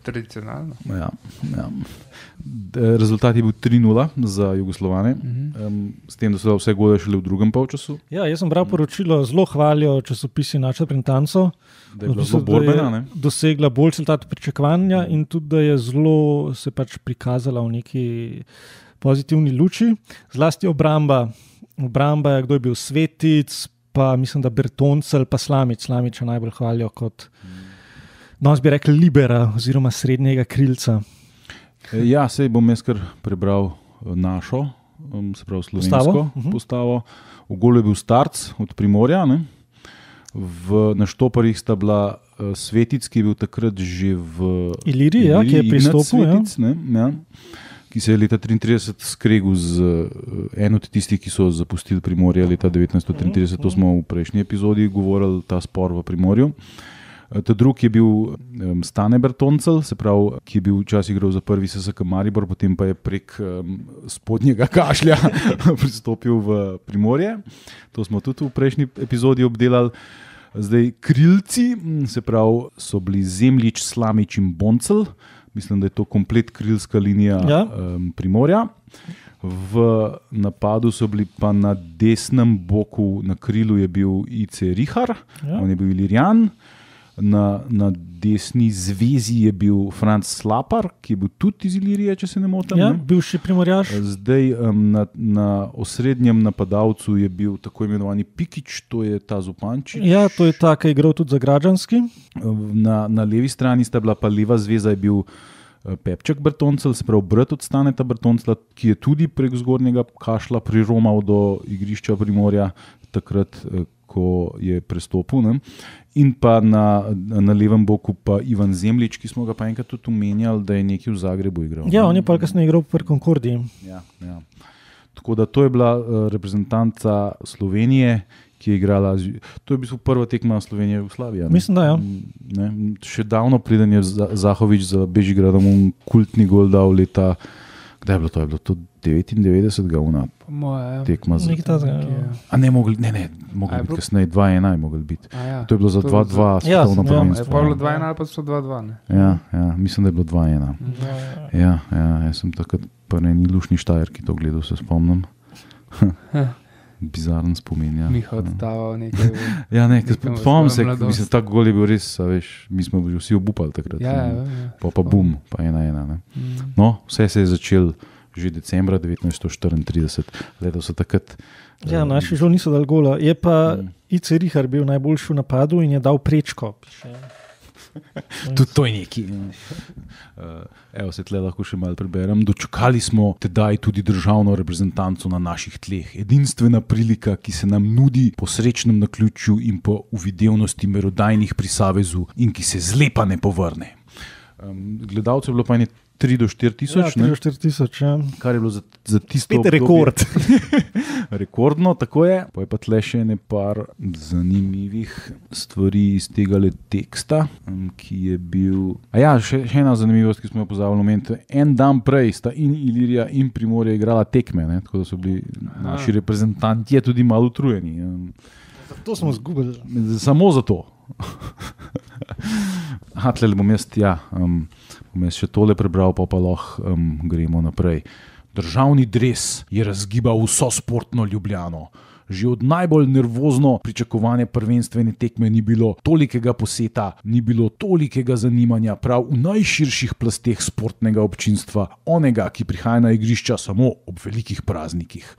Tradicionalno. Ja, ja. Rezultat je bil tri nula za Jugoslovane, uh-huh. um, s tem, da so vse gole šele v drugem polčasu. Ja, jaz sem bral poročilo, zelo hvalijo časopisi našo reprezentanco, da je bila zelo borbena, ne? Dosegla bolj rezultat pričakovanja in tudi, da je zelo se pač prikazala v neki pozitivni luči. Zlasti obramba. Obramba je, kdo je bil Svetic, pa mislim, da Bertoncel, pa Slamič. Slamiča najbolj hvalijo kot, danes bi rekli, libera oziroma srednjega krilca. Ja, sej bom jaz kar prebral našo, se pravi slovensko postavo. postavo. V golu je bil Starc od Primorja, ne? V, na štoparjih sta bila uh, Svetic, ki je bil takrat že v Iliriji, ja, ki je pristopil, Svetic, ja. Ja, ki se je leta triintrideset skregel z uh, en od tistih, ki so zapustili Primorje leta devetnajststo triintrideset. To smo v prejšnji epizodi govorili, ta spor v Primorju. Ta drug je bil um, Stane Bertoncel, se pravi, ki je bil včasih igral za prvi S S K Maribor, potem pa je prek um, spodnjega kašlja pristopil v Primorje. To smo tudi v prejšnji epizodi obdelali. Zdaj, krilci, se pravi, so bili Zemljič, Slamič in Boncel. Mislim, da je to komplet krilska linija ja. um, Primorja. V napadu so bili pa na desnem boku, na krilu je bil I C Rihar, ja. On je bil Ilirijan. Na, na desni zvezi je bil Franc Slapar, ki je bil tudi iz Ilirije, če se ne motim. Ja, ne? bivši Primorjaš. Zdaj um, na, na osrednjem napadalcu je bil tako imenovani Pikič, to je ta Zupančič. Ja, to je ta, ki je igral tudi za Građanski. Na, na levi strani sta bila pa leva zveza, je bil Pepček Bertoncel, se pravi brat od Staneta Bertoncela, ki je tudi prek zgornjega kašla priromal do igrišča Primorja, takrat, ko je prestopil. Ne? In pa na, na levem boku pa Ivan Zemljič, ki smo ga pa enkrat tudi omenjali, da je nekaj v Zagrebu igral. Ja, on je pa kasneje igral pri Concordii. Ja, ja. Tako da to je bila uh, reprezentanca Slovenije, ki je igrala, to je v bistvu prva tekma Slovenije v Jugoslaviji. Mislim, da ja. Ne? Še davno preden je Zahovič za Bežigradom un kultni gol dal leta, kdaj je bilo to? Je bilo to devetindevetdeset una tekma za... A ne, mogli, ne, ne, mogli biti kasneje, dva ena je mogli biti. Ja, to je bilo za dva dva svetovno prvenstvo. Je pa bilo dva ena ali pa so dva dva, ne? Ja, ja, mislim, da je bilo dva ena. Ja, ja, jaz sem takrat pa ne ni lušni Štajer, ki to gledal, se spomnim. Bizaren spomin, ja. Miha oddaval nekaj. Ja, ne, spomnim se, mislim, tak gol je bil res, veš, mi smo vsi obupali takrat. Ja, ja, ja. Pa pa bum, pa ena ena, ne. Mm. No, vse se je začel že decembra devetnajststo štiriintrideset. Leto so takrat... Ja, um, naši žal niso dali gola. Je pa um, I C Rihar bil najboljši v napadu in je dal prečko. Tudi to je neki. Uh, evo se tle lahko še malo preberem. Dočakali smo tedaj tudi državno reprezentanco na naših tleh. Edinstvena prilika, ki se nam nudi po srečnem naključju in po uvidevnosti merodajnih pri Savezu in ki se zlepa ne povrne. Um, gledalcev je bilo pa ene tri do štiri tisoč. Ja, tri do štiri tisoč, ja. Kar je bilo za, za tisto obdobje. Rekord. Rekordno, tako je. Pa je pa tle še ene par zanimivih stvari iz tega le teksta, ki je bil... A ja, še, še ena zanimivost, ki smo jo pozabili omeniti. En dan prej sta in Ilirija in Primorje igrala tekme, ne? Tako da so bili Aha. naši reprezentanti tudi malo utrujeni. To smo zgubili. Samo zato. Aha, tle bom jaz, ja... Um, bom jaz še tole prebral, pa pa lahko um, gremo naprej. Državni dres je razgibal vso sportno Ljubljano. Že od najbolj nervozno pričakovane prvenstvene tekme ni bilo tolikega poseta, ni bilo tolikega zanimanja prav v najširših plasteh sportnega občinstva, onega, ki prihaja na igrišča samo ob velikih praznikih.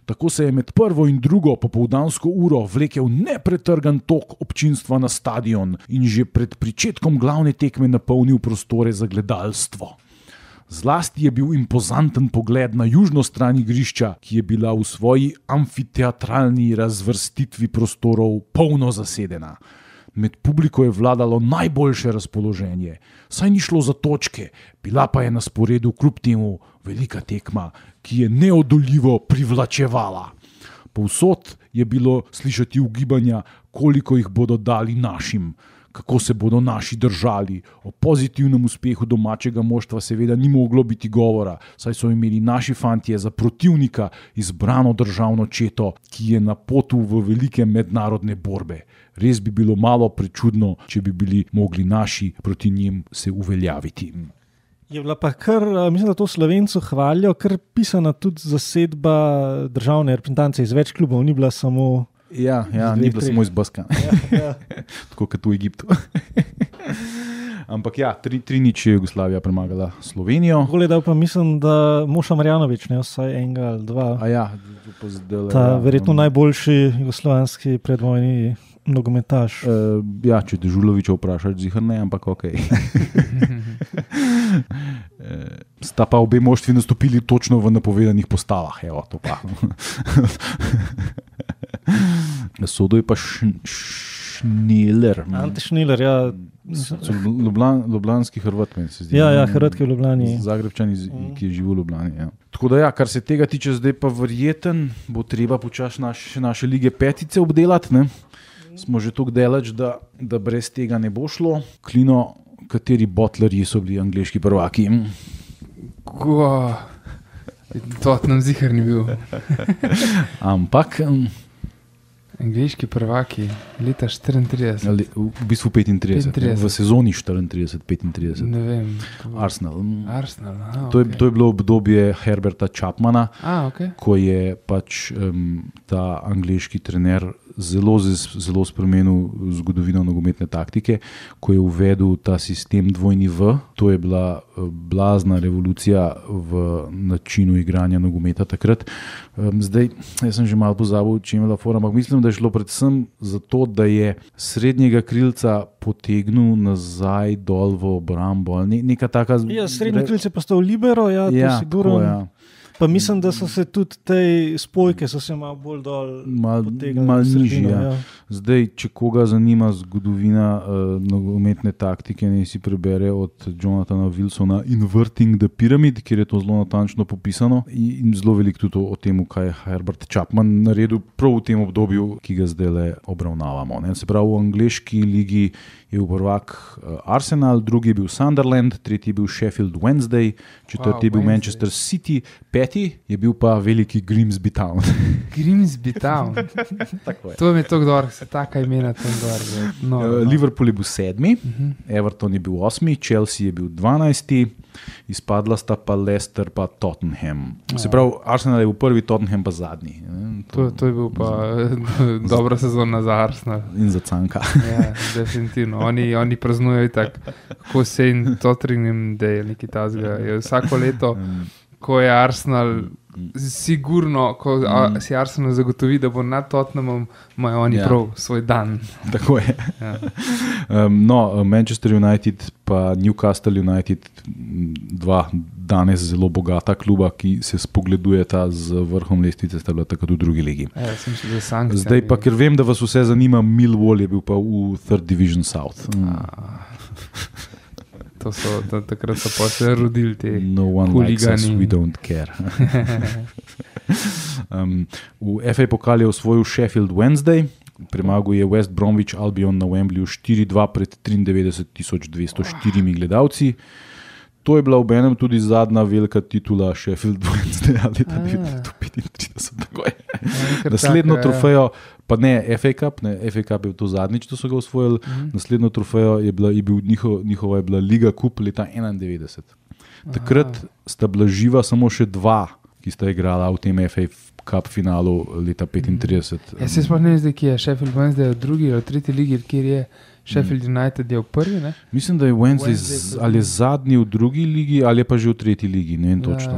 Tako se je med prvo in drugo popoldansko uro vlekel nepretrgan tok občinstva na stadion in že pred pričetkom glavne tekme napolnil prostore za gledalstvo. Zlasti je bil impozanten pogled na južno stran igrišča, ki je bila v svoji amfiteatralni razvrstitvi prostorov polno zasedena. Med publiko je vladalo najboljše razpoloženje, saj ni šlo za točke, bila pa je na sporedu kljub temu velika tekma, ki je neodoljivo privlačevala. Povsod je bilo slišati ugibanja, koliko jih bodo dali našim, kako se bodo naši držali. O pozitivnem uspehu domačega moštva seveda ni moglo biti govora, saj so imeli naši fantje za protivnika izbrano državno četo, ki je na potu v velike mednarodne borbe. Res bi bilo malo prečudno, če bi bili mogli naši proti njim se uveljaviti. Je bila pa kar, mislim, da to Slovencu hvalijo, kar pisana tudi zasedba državne reprezentance iz več klubov, ni bila samo... Ja, ja ni bila samo iz Baska. Ja, ja. Tako kot v Egiptu. Ampak ja, tri, tri nič je Jugoslavija premagala Slovenijo. Gledal pa mislim, da Moša Marjanović, ne vsaj enega ali dva. A ja, pa zdaj, Ta ja, verjetno um, najboljši jugoslovanski predvojni nogometaš. Uh, ja, če te Žulovića vprašaš, zihar ne, ampak ok. Sta pa obe moštvi nastopili točno v napovedanih postavah. Evo, to pa. Sodo je pa š, Šniler. Ante Šniler, ja. Ljubljan, Ljubljanski Hrvat, meni se zdi. Ja, ja, Hrvat, ki je v Ljubljani. Zagrebčan, ki je živel v Ljubljani. Ja. Tako da ja, kar se tega tiče, zdaj pa verjeten, bo treba počasi naš, naše lige petice obdelati. Ne? Smo že toliko delač, da, da brez tega ne bo šlo. Klino, kateri botlerji so bili angleški prvaki? Ko, to nam zihar ni bil. Ampak... Angleški prvaki, leta štiriintrideset. Ali, v bistvu petintrideset, petintrideset. v sezoni štiriintrideset petintrideset. Ne vem. Arsenal. Arsenal, aha, To je, okay. to je bilo obdobje Herberta Chapmana, A, okay. ko je pač um, ta angleški trener zelo, zelo spremenil zgodovino nogometne taktike, ko je uvedel ta sistem dvojni V. To je bila blazna revolucija v načinu igranja nogometa takrat. Um, zdaj, jaz sem že malo pozabil, če je imela fora, ampak mislim, da je šlo predvsem zato, da je srednjega krilca potegnil nazaj dol v obrambo. Ne, neka taka... Ja, srednji krilc je postal libero, ja, to Ja, sigurno. tako, ja. Pa mislim, da so se tudi te spojke so se malo bolj dol Mal, potegnili mal v sredino, nižji, ja. ja. Zdaj, če koga zanima zgodovina uh, nogometne taktike, ne si prebere od Jonathana Wilsona Inverting the Pyramid, kjer je to zelo natančno popisano in zelo veliko tudi o, o tem, kaj je Herbert Chapman naredil prav v tem obdobju, ki ga zdaj le obravnavamo. Ne? Se pravi, v angleški ligi je bil prvak uh, Arsenal, drugi je bil Sunderland, tretji je bil Sheffield Wednesday, četrti Wow, je bil Wednesday. Manchester City, peti je bil pa veliki Grimsby Town. Grimsby Town. Tako je. To mi je tako dobro, se taka imena tam gor. No, Uh, no. Liverpool je bil sedmi, Uh-huh. Everton je bil osmi, Chelsea je bil dvanajsti, izpadla sta pa Leicester pa Tottenham. Se pravi, Arsenal je bil prvi, Tottenham pa zadnji. To, to je bil pa dobra sezona za Arsenal. In za Canka. Ja, definitivno. Oni, oni praznujejo tako, kako se in Tottenham, da je nekaj tazga. Je vsako leto, ko je Arsenal, sigurno, ko a, si Arsenal zagotovi, da bo nad Tottenhamom, imajo oni Ja. prav svoj dan. Tako je. Ja. Um, no, Manchester United pa Newcastle United, dva danes zelo bogata kluba, ki se spogledujeta z vrhom lestvice, sta bila tako tudi v drugi ligi. Ja, sem še za sankcije. Zdaj pa, ker vem, da vas vse zanima, Millwall je bil pa v Third Division South. To so, da, takrat so pa se rodili te No one likes us, huligani. we don't care. um, v F A pokal je osvojil Sheffield Wednesday, premagal je West Bromwich Albion na Wembleyju štiri dva pred triindevetdeset tisoč dvesto štirimi gledalci. To je bila obenem tudi zadnja velika titula Sheffield Wednesday leta devetnajststo petintrideset. Tako je. Naslednjo trofejo, pa ne F A Cup, ne, F A Cup je bil to zadnjič, to so ga osvojili, Mhm. naslednjo trofejo je bila, je bil njihov, njihova je bila Liga Cup leta enaindevetdeset. Takrat sta bila živa samo še dva, ki sta igrala v tem F A Cup finalu leta petintrideset. Ja, se sploh ne vem, zdaj, ki je Sheffield Wednesday v drugi ali tretji ligi, kjer je Sheffield United je v prvi, ne? Mislim, da je Wednesday, Wednesday z, ali je zadnji v drugi ligi ali je pa že v tretji ligi, ne vem Ja. točno.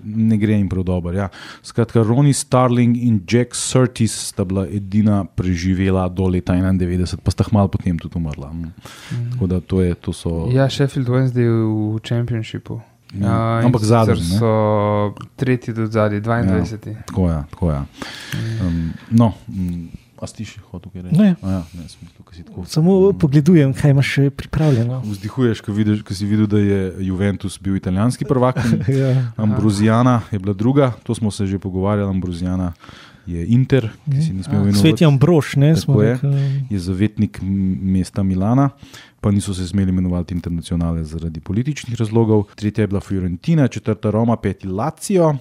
ne gre jim prav dobro. Ja. Skratka, Ronnie Starling in Jack Surtees sta bila edina preživela do leta enaindevetdeset, pa sta malo potem tudi umrla. Mm. Tako da to je, to so... Ja, Sheffield Wednesday v Championshipu. Ja, ampak zadnji, ne? So tretji do zadnji, dvaindvajseti. Ja, tako je, tako je. Um, no, um, a si še hotel kaj reči? Ne. A ja, ne, sem tukaj si tako... Samo pogledujem, kaj imaš še pripravljeno. Vzdihuješ, ko, vidiš, ko si videl, da je Juventus bil italijanski prvak. Ja. Ambrosijana je bila druga, to smo se že pogovarjali, Ambrosijana je Inter, ki si ne smel imenovati. Sveti Ambrož, ne? Tako je, je zavetnik mesta Milana, pa niso se smeli imenovati internacionale zaradi političnih razlogov. Tretja je bila Fiorentina, četrta Roma, peti Lazio,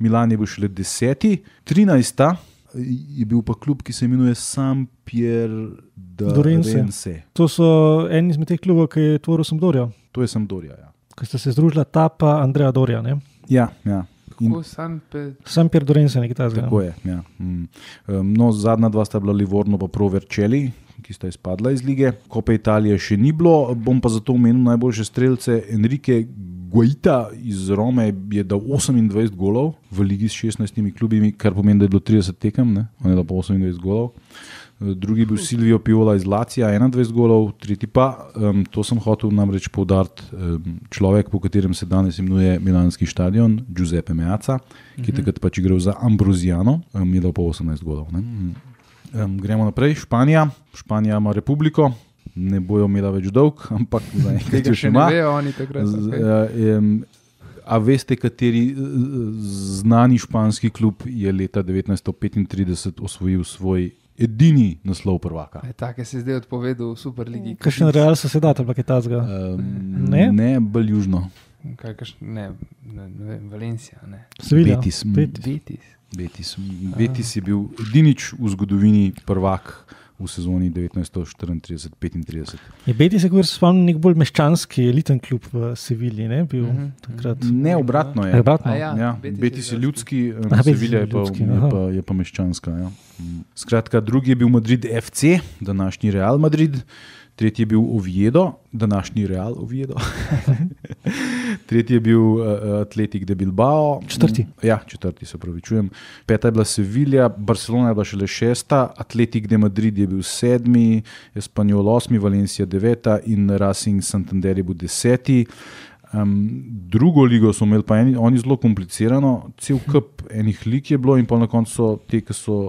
Milan je bil šele deseti, trinajsta je bil pa klub, ki se imenuje Sampdoria Dorense. To so eni izmed teh klubov, ki je tvoril Sampdoria. To je Sampdoria, ja. Ko sta se združila ta pa Andrea Doria, ne? Ja, ja. Kako Sampe... Sampier Dorense, nekaj tazga. Tako je, ja. Mm. No, zadnja dva sta bila Livorno pa Pro Vercelli, ki sta izpadla iz lige. Kope Italije še ni bilo, bom pa zato omenil najboljše strelce. Enrique Guaita iz Rome je dal osemindvajset golov v ligi s šestnajstimi klubimi, kar pomeni, da je bilo trideset tekem, ne? On je dal pa osemindvajset golov. Drugi je bil Silvio Piola iz Lacija, enaindvajset golov, tretji pa, um, to sem hotel namreč poudariti, um, človek, po katerem se danes imenuje Milanski stadion, Giuseppe Meazza, ki je takrat pač igral za Ambrosijano, um, je dal pa osemnajst golov. Ne? Um, gremo naprej, Španija. Španija ima republiko, ne bojo imela več dolg, ampak za enkrat še ima. Vejo, oni takrat, okay. uh, um, a veste, kateri znani španski klub je leta devetnajststo petintrideset osvojil svoj edini naslov prvaka? E, tak je se zdaj odpovedal v Superligi. Kakšen Real Sociedad, ali kaj tazga? Um, ne? Ne, bolj južno. Kaj, kaš, ne, ne, ne vem, Valencia, ne. Sevilla. Betis. Betis. Betis. Betis je bil edinič v zgodovini prvak v sezoni devetnajststo štiriintrideset petintrideset. Je Betis je, kot se spomnim, nek bolj meščanski eliten klub v Sevilji, ne? Bil uh-huh. takrat. Ne, obratno je. A, obratno. Ja, ja, Betis, Betis je ljudski, Aha, Sevilla je, ljudski, je, pa, je pa meščanska. Ja. Skratka, drugi je bil Madrid F C, današnji Real Madrid. Tretji je bil Oviedo, današnji Real Oviedo. Tretji je bil uh, Atletik de Bilbao. Četrti. Ja, četrti, se pravičujem. Peta je bila Sevilla, Barcelona je bila šele šesta, Atletik de Madrid je bil sedmi, Espanyol osmi, Valencia deveta in Racing Santander je bil deseti. Um, drugo ligo so imeli pa eni, oni zelo komplicirano, cel kup enih lig je bilo in pa na koncu so te, ki so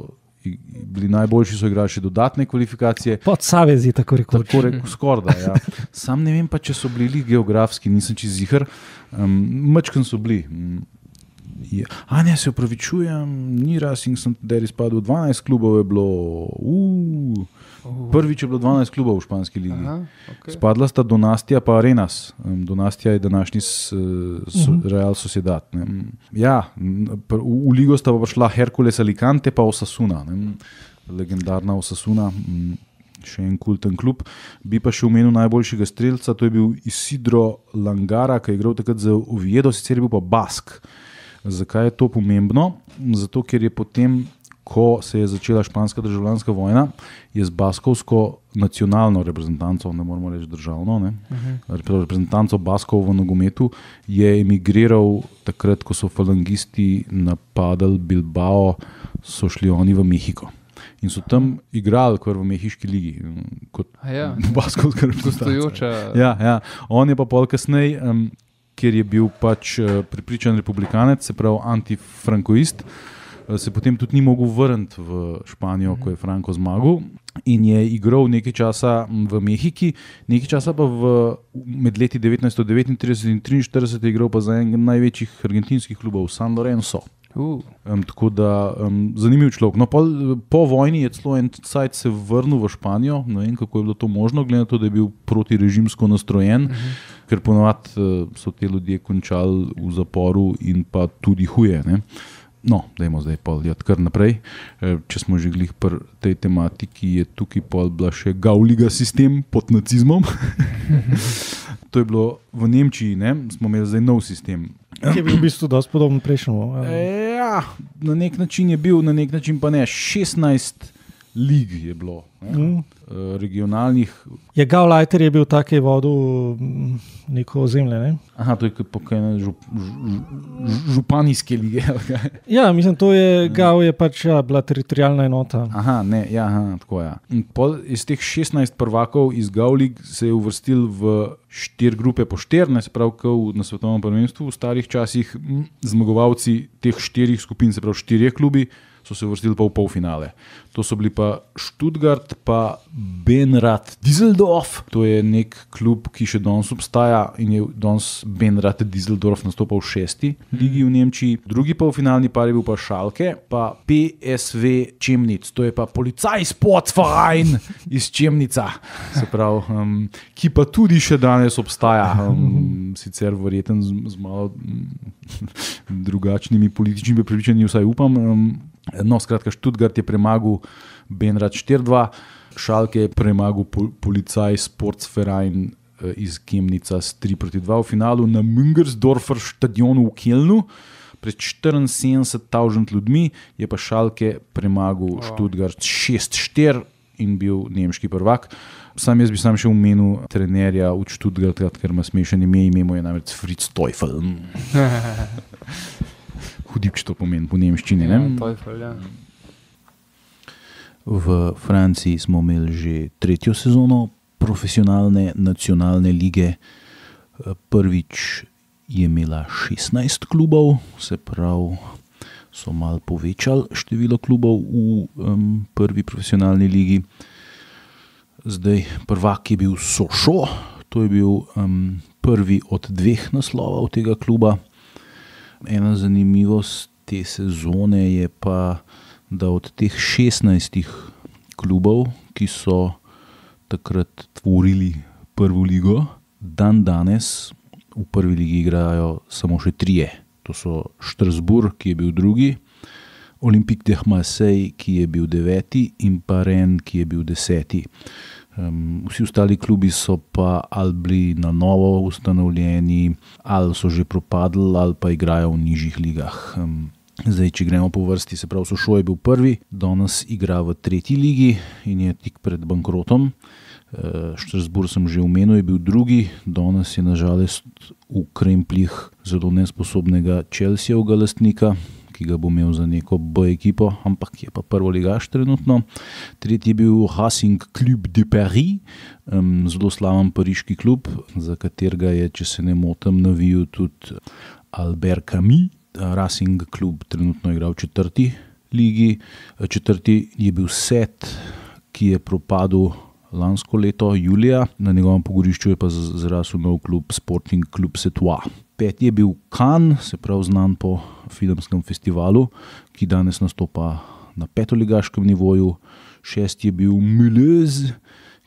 bili najboljši, so igrali še dodatne kvalifikacije. Pod Savezi, tako rekoč. Tako rekoč, skorda, ja. Sam ne vem pa, če so bili geografski, nisem čist ziher. Um, Mačkan so bili. Je. A ne, se opravičujem, ni Racing Santander izpadel, dvanajst klubov je bilo. Uh, prvič je bilo dvanajst klubov v španski ligi. Aha, okay. Spadla sta Donastija pa Arenas. Um, Donastija je današnji s, so, Real Sociedad. Ne. Ja, v, v ligo sta pa prišla Hercules Alicante pa Osasuna. Ne. Legendarna Osasuna, še en kulten klub. Bi pa še omenil najboljšega strelca, to je bil Isidro Langara, ki je igral takrat za Oviedo, sicer je bil pa Bask. Zakaj je to pomembno? Zato, ker je potem, ko se je začela španska državljanska vojna, je z baskovsko nacionalno reprezentanco, ne moramo reči državno, ne? Uh-huh. reprezentanco Baskov v nogometu, je emigriral takrat, ko so falangisti napadali Bilbao, so šli oni v Mehiko. In so tam igrali kar v mehiški ligi. Kot ja. baskovska reprezentanca. Gostujoča. Ja, ja. On je pa pol kasnej, um, ker je bil pač uh, prepričan republikanec, se pravi antifrankoist, uh, se potem tudi ni mogel vrniti v Španijo, mm-hmm. ko je Franco zmagal in je igral nekaj časa v Mehiki, nekaj časa pa v, med leti devetnajststo devetintrideset in triinštirideset je igral pa za enega največjih argentinskih klubov, San Lorenzo. Uh. Um, tako da um, zanimiv človek. No, po, po vojni je celo en cajt se vrnil v Španijo, ne vem, kako je bilo to možno, glede na to, da je bil protirežimsko nastrojen, uh-huh. ker ponovadi uh, so te ljudje končali v zaporu in pa tudi huje. Ne? No, dajmo zdaj pol jad kar naprej. E, če smo že glih pri tej tematiki, je tukaj pol bila še Gauliga sistem pod nacizmom. To je bilo v Nemčiji, ne? Smo imeli zdaj nov sistem. Ki je bil v bistvu dosti podoben prejšnjemu. Ja, na nek način je bil, na nek način pa ne. šestnajst lig je bilo, mm. regionalnih. Je Gauleiter je bil tak, je vodil neko ozemlje, ne? Aha, to je kot žup, županijske lige. Ja, mislim, to je, Gau je pač ja, bila teritorijalna enota. Aha, ne, ja, aha, tako ja. In pol iz teh šestnajst prvakov iz Gaulig se je uvrstil v štiri grupe po štiri, ne se pravi, kot na svetovnem prvenstvu v starih časih, zmagovalci teh štirih skupin, se pravi štirje klubi, so se uvrstili pa v polfinale. To so bili pa Stuttgart, pa Benrad Düsseldorf. To je nek klub, ki še danes obstaja in je danes Benrad Düsseldorf nastopal v šesti ligi v Nemčiji. Drugi polfinalni par je bil pa Schalke, pa P S V Chemnitz. To je pa Polizeisportverein iz Chemnica, se pravi, um, ki pa tudi še danes obstaja. Um, sicer verjeten z, z malo drugačnimi političnimi prepričanji, vsaj upam. Um, No, skratka, Stuttgart je premagal Benrad štiri dva, Schalke je premagal pol, Polizeisportverein iz Chemnica s tri proti dva v finalu na Müngersdorfer stadionu v Kelnu. Pred štiriinsedemdeset tisoč ljudmi je pa Schalke premagal wow. Stuttgart šest štiri in bil nemški prvak. Sam jaz bi sam še omenil trenerja v Stuttgartu, ker ima smešen ime, ime mu je namreč Fritz Teufel. Hudib, če to pomeni po nemščini. Ne? Ja, Teufel, ja. V Franciji smo imeli že tretjo sezono profesionalne nacionalne lige. Prvič je imela šestnajst klubov, se pravi, so malo povečali število klubov v um, prvi profesionalni ligi. Zdaj, prvak je bil Sochaux, to je bil um, prvi od dveh naslovov tega kluba. Ena zanimivost te sezone je pa, da od teh šestnajstih klubov, ki so takrat tvorili prvo ligo, dan danes v prvi ligi igrajo samo še trije. To so Strasbourg, ki je bil drugi, Olympique de Marseille, ki je bil deveti in pa Rennes, ki je bil deseti. Um, vsi ostali klubi so pa ali bili na novo ustanovljeni, ali so že propadli, ali pa igrajo v nižjih ligah. Um, zdaj, če gremo po vrsti, se pravi, Sochaux je bil prvi, danes igra v tretji ligi in je tik pred bankrotom. Uh, Strasbourg sem že omenil, je bil drugi, danes je nažalost v kremplih zelo nesposobnega Chelseavega lastnika, ki ga bo imel za neko B ekipo, ampak je pa prvoligaš trenutno. Tretji je bil Racing Club de Paris, um, zelo slaven pariški klub, za katerega je, če se ne motim, navijal tudi Albert Camus. Racing Club trenutno igra v četrti ligi. Četrti je bil Set, ki je propadel lansko leto, julija. Na njegovem pogorišču je pa zrasel nov klub Sporting Club Setois. Peti je bil Cannes, se pravi znan po filmskem festivalu, ki danes nastopa na petoligaškem nivoju. Šesti je bil Mulhouse,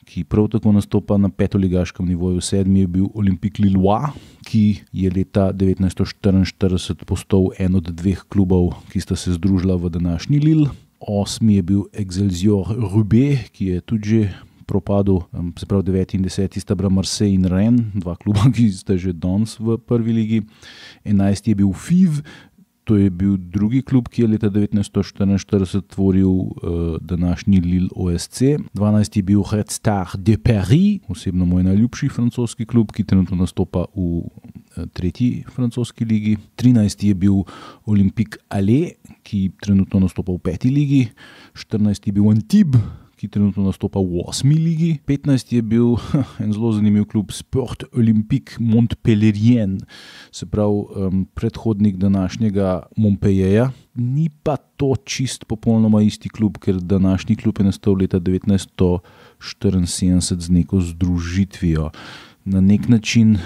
ki prav tako nastopa na petoligaškem nivoju. Sedmi je bil Olympique Lillois, ki je leta devetnajststo štiriinštirideset postal en od dveh klubov, ki sta se združila v današnji Lille. Osmi je bil Excelsior Roubaix, ki je tudi že propadel, se pravi deveti in deseti sta bila Marseille in Rennes, dva kluba, ki sta že danes v prvi ligi. Enajsti je bil F I V, to je bil drugi klub, ki je leta devetnajststo štiriinštirideset tvoril uh, današnji Lille O S C. dvanajsti je bil Red Star de Paris, osebno moj najljubši francoski klub, ki trenutno nastopa v uh, tretji francoski ligi. trinajsti je bil Olympique Alais, ki trenutno nastopa v peti ligi. štirinajsti je bil Antibes, ki trenutno nastopa v osmi ligi. petnajsti je bil en zelo zanimiv klub Sport Olympique Montpellier, se pravi um, predhodnik današnjega Montpellierja. Ni pa to čist popolnoma isti klub, ker današnji klub je nastal leta devetnajststo štiriinsedemdeset z neko združitvijo. Na nek način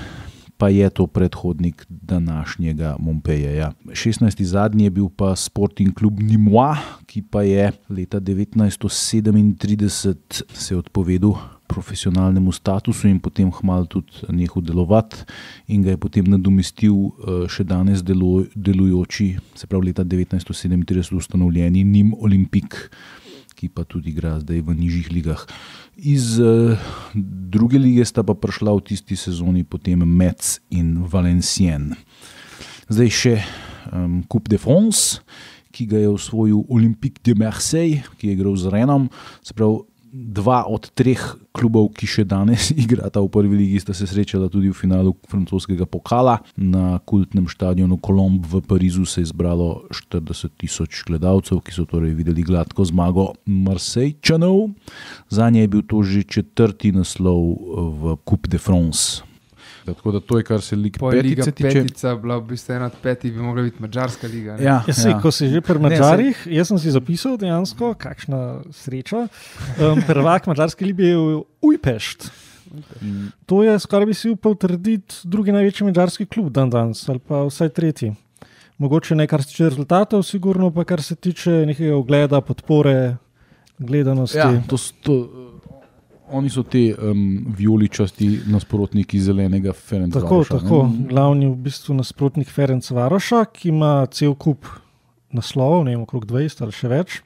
pa je to predhodnik današnjega Montpellierja. šestnajsti zadnji je bil pa Sporting Club Nîmois, ki pa je leta devetnajststo sedemintrideset se odpovedal profesionalnemu statusu in potem hmalo tudi nehal delovati in ga je potem nadomestil še danes delu, delujoči, se pravi leta devetnajststo sedemintrideset ustanovljeni Nîmes Olympique, ki pa tudi igra zdaj v nižjih ligah. Iz uh, druge lige sta pa prišla v tisti sezoni potem Metz in Valenciennes. Zdaj še um, Coupe de France, ki ga je osvojil Olympique de Marseille, ki je igral z Renom. Se pravi, dva od treh klubov, ki še danes igrata v prvi ligi, sta se srečala tudi v finalu francoskega pokala. Na kultnem štadionu Colombe v Parizu se je zbralo štirideset tisoč gledalcev, ki so torej videli gladko zmago Marsejčanov. Zanje je bil to že četrti naslov v Coupe de France. Tako da to je, kar se Liga petice tiče. Petica bila v bistvu ena od petih, bi mogla biti Madžarska liga. Ja, ja, sej, ja. Ko si že pri Madžarih, jaz sem si zapisal dejansko, kakšna sreča. Um, prvak Madžarske lige je Ujpešt. Mm. To je, skoraj bi si upal trditi, drugi največji madžarski klub dan danes, ali pa vsaj tretji. Mogoče ne kar se tiče rezultatov, sigurno pa kar se tiče nekega ogleda, podpore, gledanosti. Ja, to, to, oni so te um, vijoličasti nasprotniki zelenega Ferencvaroša. Tako, tako. Glavni v bistvu nasprotnik Ferencvaroša, ki ima cel kup naslovov, ne vem, okrog dvajset ali še več.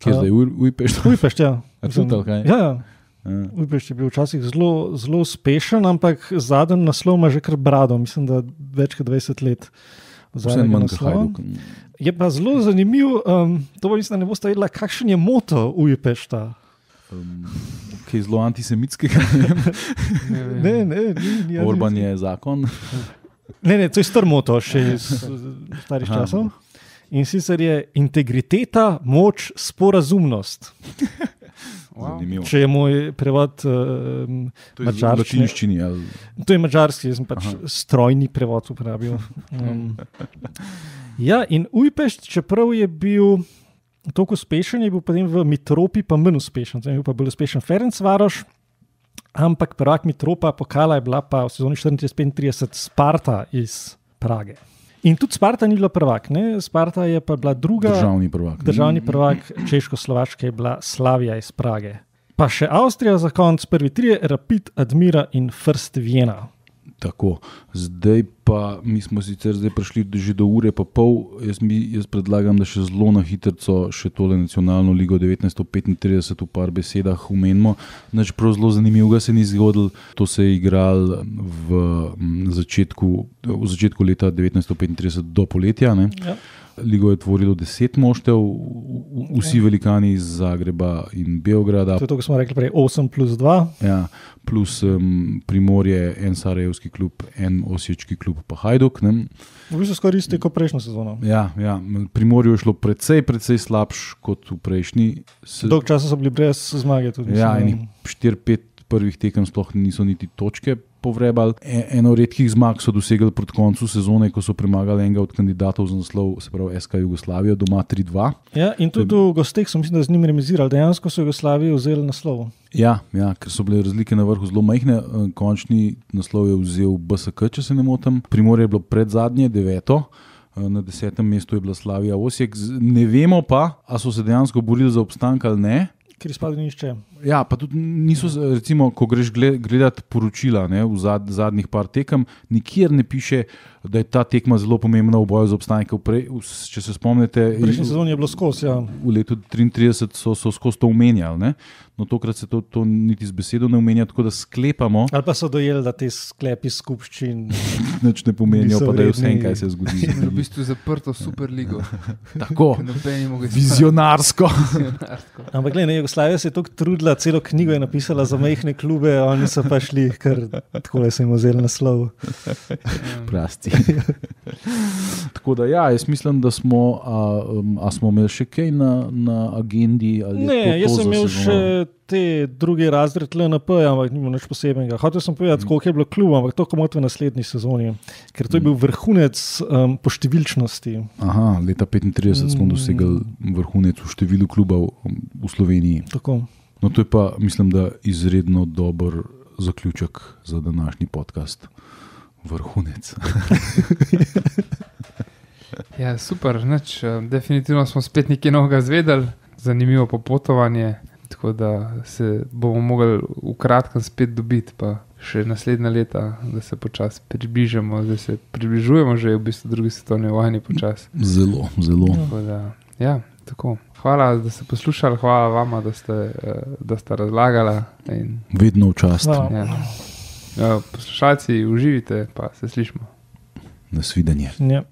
Kje je zdaj Ujpešt? Ujpešt, ja. A tudi ali kaj? Ja, ja. Ujpešt je bil včasih zelo, zelo uspešen, ampak zadnji naslov ima že kar brado, mislim, da več kot dvajset let. Vsem manj kot Hajduk. Je pa zelo zanimiv, um, to pa mislim, da ne boste vedela, kakšen je moto Ujpešta. Um, kaj zelo antisemitskega, ne vem. Ne, ne, ni, ni Orban je zakon. Ne, ne, to je star moto še iz starih Aha. časov. In sicer je integriteta, moč, sporazumnost. Wow. Zanimivo. Če je moj prevod uh, To je v madžarščine. latinščini. Ali... To je madžarski, jaz sem pač Aha. strojni prevod uporabil. Um, ja, in Ujpešt, čeprav je bil toliko uspešen, je bil potem v Mitropi pa manj uspešen. Zdaj je bil pa bolj uspešen Ferencvaroš, ampak prvak Mitropa pokala je bila pa v sezoni štiriintrideset petintrideset Sparta iz Prage. In tudi Sparta ni bila prvak, ne? Sparta je pa bila druga. Državni prvak. Državni prvak Češko-Slovaške je bila Slavija iz Prage. Pa še Avstrija za konc, prvi trije, Rapid, Admira in First Vienna. Tako, zdaj pa mi smo sicer zdaj prišli že do ure pa pol, jaz, mi, jaz predlagam, da še zelo na hitrco še tole nacionalno ligo devetnajststo petintrideset v par besedah umenimo. Nič prav zelo zanimivega se ni zgodilo, to se je igral v začetku, v začetku leta devetnajststo petintrideset do poletja, ne? Ja. Ligo je tvorilo deset moštev, vsi velikani iz Zagreba in Beograda. To je to, ko smo rekli prej, osem plus dva. Ja, plus um, Primorje, en sarajevski klub, en osječki klub, pa Hajduk. Ne? V bistvu skoraj isto kot prejšnjo sezono. Ja, ja, Primorju je šlo precej, precej slabš kot v prejšnji. Se... Dolg časa so bili brez zmage. Tudi, ja, enih štiri pet prvih tekem sploh niso niti točke povrebali. E, eno redkih zmag so dosegli proti koncu sezone, ko so premagali enega od kandidatov za naslov, se pravi S K Jugoslavijo, doma tri dva. Ja, in tudi v gosteh so mislim, da z njim remizirali. Dejansko so Jugoslaviji vzeli naslov. Ja, ja, ker so bile razlike na vrhu zelo majhne. Končni naslov je vzel B S K, če se ne motim. Primorje je bilo pred zadnje, deveto. Na desetem mestu je bila Slavija Osijek. Ne vemo pa, a so se dejansko borili za obstanek ali ne. Ker izpadli nišče. Ja, pa tudi niso, recimo, ko greš gledati poročila, ne, v zad, zadnjih par tekem, nikjer ne piše, da je ta tekma zelo pomembna v boju za obstanek. Če se spomnite, V prejšnji sezoni je bilo skozi, ja. V letu triintrideset so, so skozi to omenjali, ne? No tokrat se to, to niti z besedo ne omenja, tako da sklepamo. Ali pa so dojeli, da te sklepi skupščin nič ne pomenijo, pa da je vse, kaj se zgodi. V bistvu zaprto Superligo. Tako, vizionarsko. vizionarsko. Ampak gledaj, Jugoslavija se je toliko trudila, celo knjigo je napisala za majhne klube, oni so pa šli, ker takole so jim vzeli naslov. Prasti. Tako da ja, jaz mislim, da smo, a, a smo imeli še kaj na, na agendi? Ali ne, to, to jaz sem imel sezono? še te drugi razred L N P, ampak ni bilo nič posebnega. Hotel sem povedati, koliko je bilo klubov, ampak to komot v naslednji sezoni, ker to je bil vrhunec um, po številčnosti. Aha, leta petintrideset smo dosegli vrhunec v številu klubov v Sloveniji. Tako. No, to je pa, mislim, da izredno dober zaključek za današnji podcast. Vrhunec. Ja, super, nič. Definitivno smo spet nekaj novega zvedeli, zanimivo popotovanje, tako da se bomo mogli v kratkem spet dobiti, pa še naslednja leta, da se počasi približamo, da se približujemo že v bistvu drugi svetovni vojni počasi. Zelo, zelo. Tako da, ja, tako. Hvala, da ste poslušali, hvala vama, da ste, da ste razlagali. In, vedno v čast. ja. Ja, poslušalci, uživite, pa se slišimo. Nasvidenje. Ja.